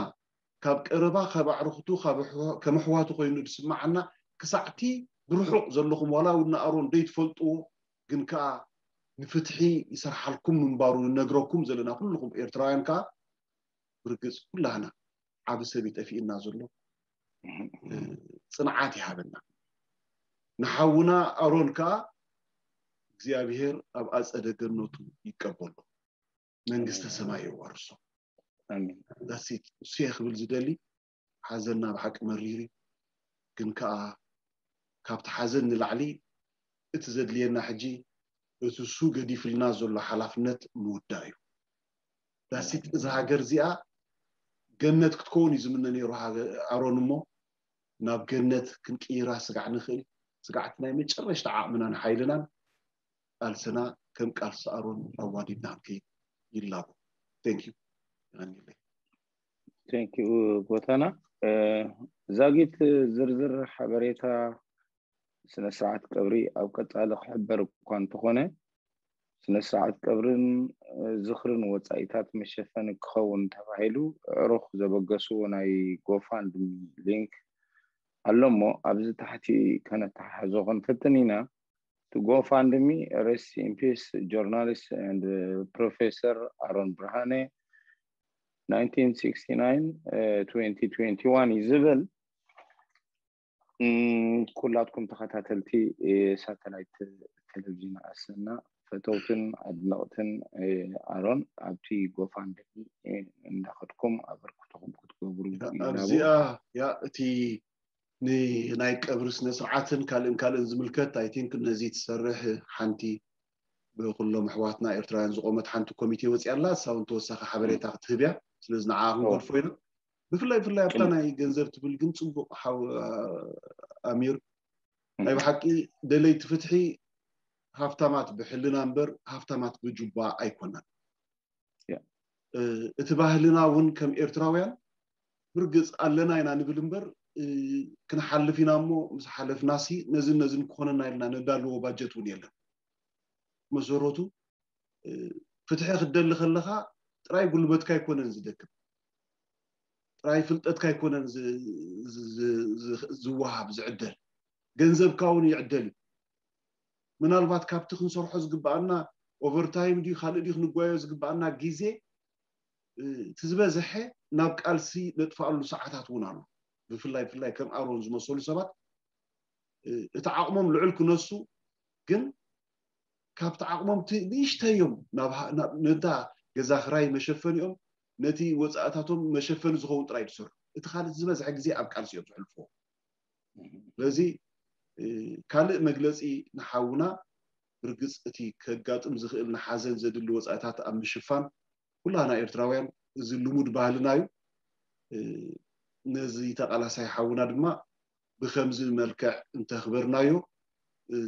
ካብ ቀረባ ካብ ኣዕርኽቱ ከም ኣሕዋቱ ኮይኑ ዝስምዓና ክሳዕቲ ብርሑቕ ዘለኹም ዋላ እውን ንኣሮን ዘይትፈልጥዎ ግን ከዓ ንፍትሒ ይሰርሓልኩም ምንባሩ ንነግረኩም ዘለና ኩልኹም ኤርትራውያን ከዓ ብርግፅ ኩላህና ዓቢ ሰብ ይጠፊእና ዘሎ ፅንዓት ይሃበና። ንሓውና ኣሮን ከዓ እግዚኣብሔር ኣብ ኣፀደ ገነቱ ይቀበሎ፣ መንግስተ ሰማይ የዋርሶ። ኣሜን። ዳሲት እሱ እየ ክብል ዝደሊ። ሓዘንና ብሓቂ መሪር እዩ፣ ግን ከዓ ካብቲ ሓዘን ንላዕሊ እቲ ዘድልየና ሕጂ እቲ እሱ ገዲፍልና ዘሎ ሓላፍነት ምውዳእ እዩ። ዳሲት እዛ ሃገር እዚኣ ገነት ክትከውን እዩ ዝምነ ነይሩ ኣሮን፣ እሞ ናብ ገነት ክንቅይራ ስጋዕ ንኽእል ስጋዕቲ ናይ መጨረሽታ ዓቕምናን ሓይልናን ቃልስና ከም ቃልሲ ኣሮን ኣዋዲድና ክንከይድ ይላቦ። Thank you። Thank you ጎተና። ዛጊት ዝርዝር ሓበሬታ ስነ ስርዓት ቀብሪ ኣብ ቀጻሊ ክሕበር እኳ እንተኾነ፣ ስነ ስርዓት ቀብርን ዝኽርን ወጻኢታት መሸፈኒ ክኸውን ተባሂሉ ኣዕሩኽ ዘበገስዎ ናይ ጎፋንድሚ ሊንክ ኣሎ እሞ ኣብዚ ታሕቲ ከነተሓሕዞ ክንፍትን ኢና። To GoFundMe, rest in peace journalist and professor ኣሮን ብርሃነ, nineteen sixty-nine twenty twenty-one እዩ ዝብል። ኩላትኩም ተኸታተልቲ ሳተላይት ቴሌቪዥን ኣሰና፣ ፈተውትን ኣድነቕትን ኣሮን ኣብቲ GoFundMe እንዳኸድኩም ኣበርክቶኹም ክትገብሩ ኣብዚኣ ያ እቲ ናይ ቀብሪ ስነ ስርዓትን ካልእን ካልእን ዝምልከት I think ነዚ ትሰርሕ ሓንቲ ብኩሎም ኣሕዋትና ኤርትራውያን ዝቆመት ሓንቲ ኮሚቴ ወፂኣ ኣላ። እሳ እውን ተወሳኺ ሓበሬታ ክትህብ እያ። ስለዚ ንዓ ክንገድፎ ኢና። ብፍላይ ብፍላይ ኣብታ ናይ ገንዘብ ትብል ግን ፅቡቅ ሓው ኣሚር ናይ ብሓቂ ደለይቲ ፍትሒ ሃፍታማት ብሕልና እምበር ሃፍታማት ብጁባ ኣይኮናን። እቲ ባህልና እውን ከም ኤርትራውያን ብርግፅ ኣለና ኢና ንብል እምበር ክንሓልፍ ኢና እሞ ምስ ሓለፍናሲ ነዝን ነዝን ክኾነና ኢልና ነዳልዎ ባጀት እውን የለን። መሰረቱ ፍትሒ ክትደሊ ከለኻ ጥራይ ጉልበትካ ኣይኮነን ዝደክም፣ ጥራይ ፍልጠትካ ኣይኮነን ዝወሃብ ዝዕደል፣ ገንዘብካ እውን ይዕደል እዩ። ምናልባት ካብቲ ክንሰርሖ ዝግበኣና ኦቨርታይም ድዩ ካልእ ድዩ ክንጓዮ ዝግበኣና ግዜ እቲ ዝበዝሐ ናብ ቃልሲ ነጥፍኣሉ ሰዓታት እውን ኣሎ። ብፍላይ ብፍላይ ከም ኣሮን ዝመሰሉ ሰባት እቲ ዓቕሞም ልዑል ክነሱ ግን ካብቲ ዓቕሞም ንእሽተዮም ነታ ገዛ ክራይ መሸፈኒኦም ነቲ ወፃእታቶም መሸፈኒ ዝኸውን ጥራይ ዝሰርሑ። እቲ ካልእ ዝበዝሐ ግዜ ኣብ ቃልሲ እዮም ዝሕልፍዎ። ስለዚ ካልእ መግለፂ ንሓውና ብርግፅ እቲ ከጋጥም ዝኽእል ንሓዘን ዘድሊ ወፃኢታት ኣብ ምሽፋን ኩላና ኤርትራውያን እዚ ልሙድ ባህልና እዩ። ነዚ ተቓላሳይ ሓውና ድማ ብከምዚ መልክዕ እንተኽበርናዮ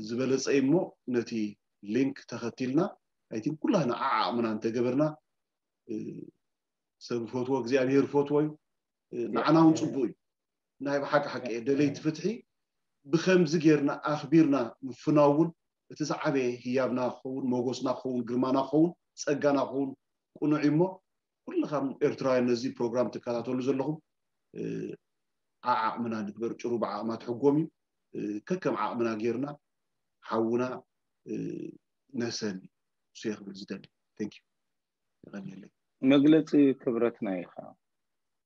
ዝበለፀ እሞ ነቲ ሊንክ ተኸቲልና ኣይቲን ኩላና ዓዓቕምና እንተገበርና ሰብ ፈትዎ እግዚኣብሔር ፈትዎ እዩ። ንዓና እውን ፅቡቅ እዩ። ናይ ብሓቂ ሓቂ ደለይቲ ፍትሒ ብከምዚ ጌርና ኣኽቢርና ምፍናው እውን እቲ ዝዓበየ ህያብና ክኸውን፣ ሞጎስና ክኸውን፣ ግርማና ክኸውን፣ ጸጋና ክኸውን ቅኑዕ እዩ እሞ ኩልኻም ኤርትራውያን ነዚ ፕሮግራም ትከታተሉ ዘለኹም ዓዓቕምና ንግበር። ጭሩ ብዓቕማ ትሕጎም እዩ። ከከም ዓቕምና ጌርና ሓውና ነሰኒ እሱ ክብል ዝደሊ። Thank you። ይቐንየለይ። መግለፂ ክብረትና ኢኻ።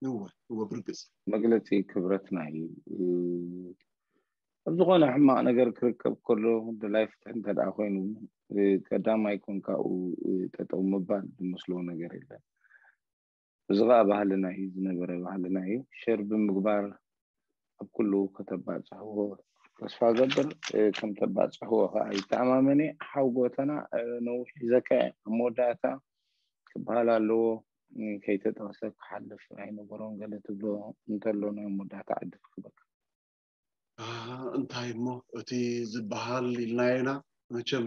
እወ እወ ብርግፅ መግለፂ ክብረትና እዩ። ኣብ ዝኾነ ሕማቕ ነገር ክርከብ ከሎ ድላይ ፍትሒ እንተ ደኣ ኮይኑ ቀዳማይ ኮንካኡ ጠጠው ምባል ዝመስሎ ነገር የለን። እዚ ኸዓ ባህልና እዩ፣ ዝነበረ ባህልና እዩ። ሸር ብምግባር ኣብ ኩሉ ከተባፅሕዎ ተስፋ ገብር። ከም ተባፅሕዎ ከዓ ይተኣማመን እየ። ሓው ጎተና ነዊሕ ሒዘካ እየ። ኣብ መወዳእታ ክበሃል ኣለዎ፣ ከይተጠቕሰ ክሓልፍ ኣይነበሮን ገለ ትብሎ እንተሎ ናይ መወዳእታ ዕድል ክህበካ። እንታይ እሞ እቲ ዝበሃል ኢልናዮ ኢና። መቸም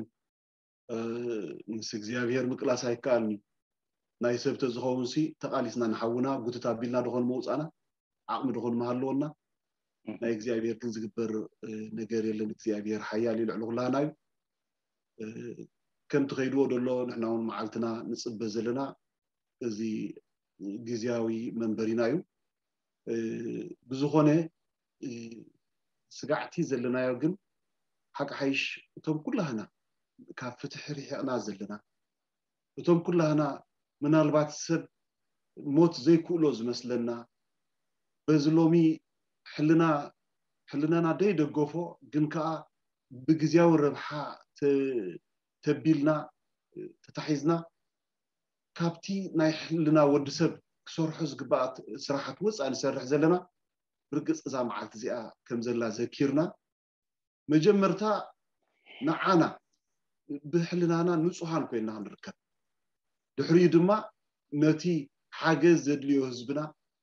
ምስ እግዚኣብሔር ምቅላስ ኣይከኣልን እዩ። ናይ ሰብ ተዝኸውን ሲ ተቃሊስና ንሓውና ጉትት ኣቢልና ድኾን መውፃና ዓቕሚ ድኾን መሃለወና። ናይ እግዚኣብሔር ግን ዝግበር ነገር የለን። እግዚኣብሔር ሓያል እዩ፣ ልዕሊ ኩላና እዩ። ከም ትኸይድዎ ደሎ ንሕና እውን መዓልትና ንፅበ ዘለና እዚ ግዝያዊ መንበሪና እዩ። ብዝኾነ ስጋዕቲ ዘለናዮ ግን ሓቂ ሓይሽ እቶም ኩላህና ካብ ፍትሒ ርሒቕና ዘለና እቶም ኩላህና ምናልባት ሰብ ሞት ዘይክእሎ ዝመስለና በዚ ሎሚ ሕልና ሕልናና ደይደገፎ ግን ከዓ ብግዝያዊ ረብሓ ተቢልና ተታሒዝና ካብቲ ናይ ሕልና ወዲ ሰብ ክሰርሖ ዝግባኣ ስራሓት ወፃእ ንሰርሕ ዘለና ብርግፅ እዛ መዓልቲ እዚኣ ከም ዘላ ዘኪርና መጀመርታ ንዓና ብሕልናና ንፁሃን ኮይንና ክንርከብ ድሕሪኡ ድማ ነቲ ሓገዝ ዘድልዮ ህዝብና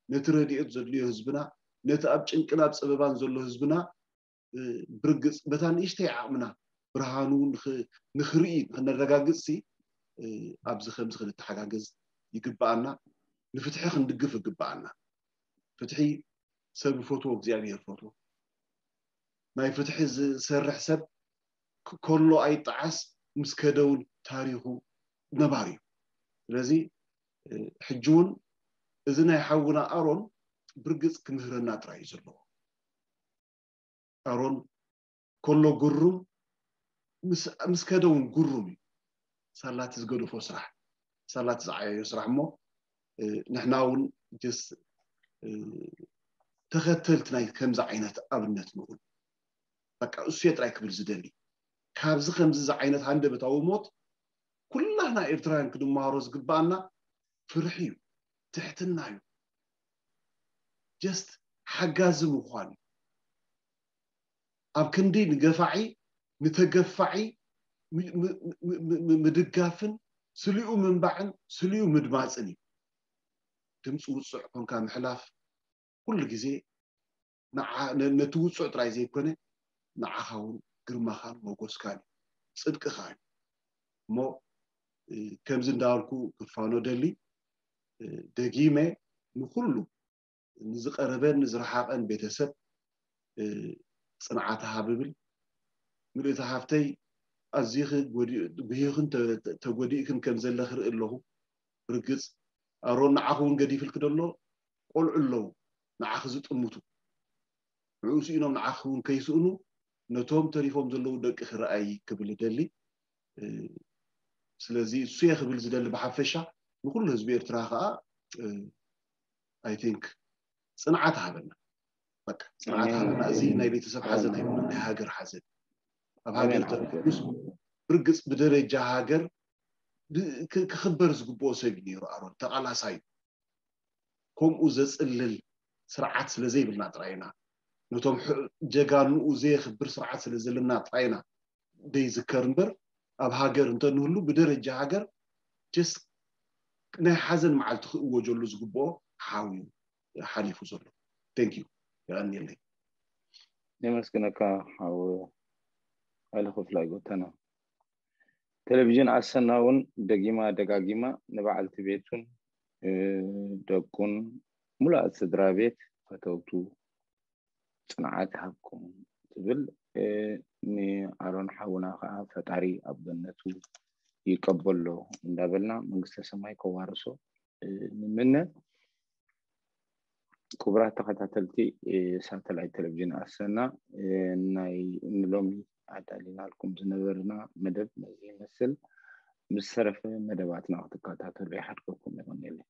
ነቲ ረድኤት ዘድልዮ ህዝብና ነቲ ኣብ ጭንቅን ኣብ ፀበባን ዘሎ ህዝብና ብርግፅ በታ ንእሽተይ ዓቕምና ብርሃኑ ንኽርኢ ንክነረጋግፅ ሲ ኣብዚ ከምዚ ክንተሓጋገዝ ይግበኣና። ንፍትሒ ክንድግፍ ይግበኣና። ፍትሒ ሰብ ይፈትዎ እግዚኣብሔር ይፈትዎ። ናይ ፍትሒ ዝሰርሕ ሰብ ከሎ ኣይጠዓስ ምስ ከደ እውን ታሪኹ ነባሪ እዩ። ስለዚ ሕጂ እውን እዚ ናይ ሓውና ኣሮን ብርግፅ ክምህረና ጥራይ እዩ ዘለዎ። ኣሮን ከሎ ግሩም ምስ ከደ እውን ግሩም እዩ። ሳላቲ ዝገደፎ ስራሕ ሳላቲ ዝዓየዮ ስራሕ እሞ ንሕና እውን ጀስ ተኸተልቲ ናይ ከምዚ ዓይነት ኣብነት ንኹን። በቃ እሱ ጥራይ ክብል ዝደሊ ካብዚ ከምዚ ዓይነት ሃንደበታዊ ሞት ኩላህና ኤርትራውያን ክንመሃሮ ዝግባኣና ፍርሒ እዩ፣ ትሕትና እዩ፣ ጀስት ሓጋዚ ምዃን እዩ። ኣብ ክንዲ ንገፋዒ ንተገፋዒ ምድጋፍን ስሊኡ ምንባዕን ስሊኡ ምድማፅን እዩ። ድምፂ ውፅዕ ኮንካ ምሕላፍ ኩሉ ግዜ ነቲ ውፅዕ ጥራይ ዘይኮነ ንዓኻ እውን ግርማኻን መጎስካን እዩ፣ ፅድቅኻ እዩ። እሞ ከምዚ እንዳበልኩ ክፋኖ ደሊ ደጊመ ንኩሉ ንዝቐረበን ንዝረሓቐን ቤተሰብ ፅንዓት ሃብ እብል። ምልእቲ ሃፍተይ ኣዚኺ ጉሂኽን ተጎዲእክን ከም ዘለኺ ርኢ ኣለኹ። ብርግፅ ኣሮን ንዓኺ እውን ገዲፍልኪ ደሎ ቆልዑ ኣለዉ ንዓኺ ዝጥምቱ ንዕኡ ስኢኖም ንዓኺ እውን ከይስእኑ ነቶም ተሪፎም ዘለዉ ደቂ ክረኣይ ክብል እደሊ። ስለዚ እሱ እየ ክብል ዝደሊ ብሓፈሻ ንኩሉ ህዝቢ ኤርትራ ከዓ I think ፅንዓት ሃበና። በቃ ፅንዓት ሃበና። እዚ ናይ ቤተሰብ ሓዘን ኣይኮነን፣ ናይ ሃገር ሓዘን። ኣብ ሃገር ተርኩስ ብርግፅ ብደረጃ ሃገር ክኽበር ዝግብኦ ሰብ እዩ ነይሩ። ኣሮን ተቓላሳይ ከምኡ ዘፅልል ስርዓት ስለ ዘይብልና ጥራይ ኢና ነቶም ጀጋንኡ ዘየኽብር ስርዓት ስለ ዘለና ጥራይና ደይዝከር እምበር፣ ኣብ ሃገር እንተንህሉ ብደረጃ ሃገር ጀስ ናይ ሓዘን መዓልቲ ክእወጀሉ ዝግብኦ ሓው እዩ ሓሊፉ ዘሎ። Thank you። የቐንየለይ። የመስግነካ ሓው ኣይለ ክፍላይ ጎተና። ቴሌቪዥን ኣሰና እውን ደጊማ ደጋጊማ ንበዓልቲ ቤቱን ደቁን፣ ሙሉኣት ስድራ ቤት፣ ፈተውቱ ጽንዓት ይሃብኩም ትብል። ንኣሮን ሓውና ከዓ ፈጣሪ ኣብ ገነቱ ይቀበሎ እንዳበልና መንግስተ ሰማይ ከዋርሶ ንምነ። ክቡራት ተኸታተልቲ ሳተላይት ቴሌቪዥን ኣሰና፣ ናይ ንሎሚ ኣዳሊናልኩም ዝነበርና መደብ ነዚ ይመስል። ምስ ሰረፈ መደባትና ክትከታተሉ ይሓድገኩም። ይቐንየለይ።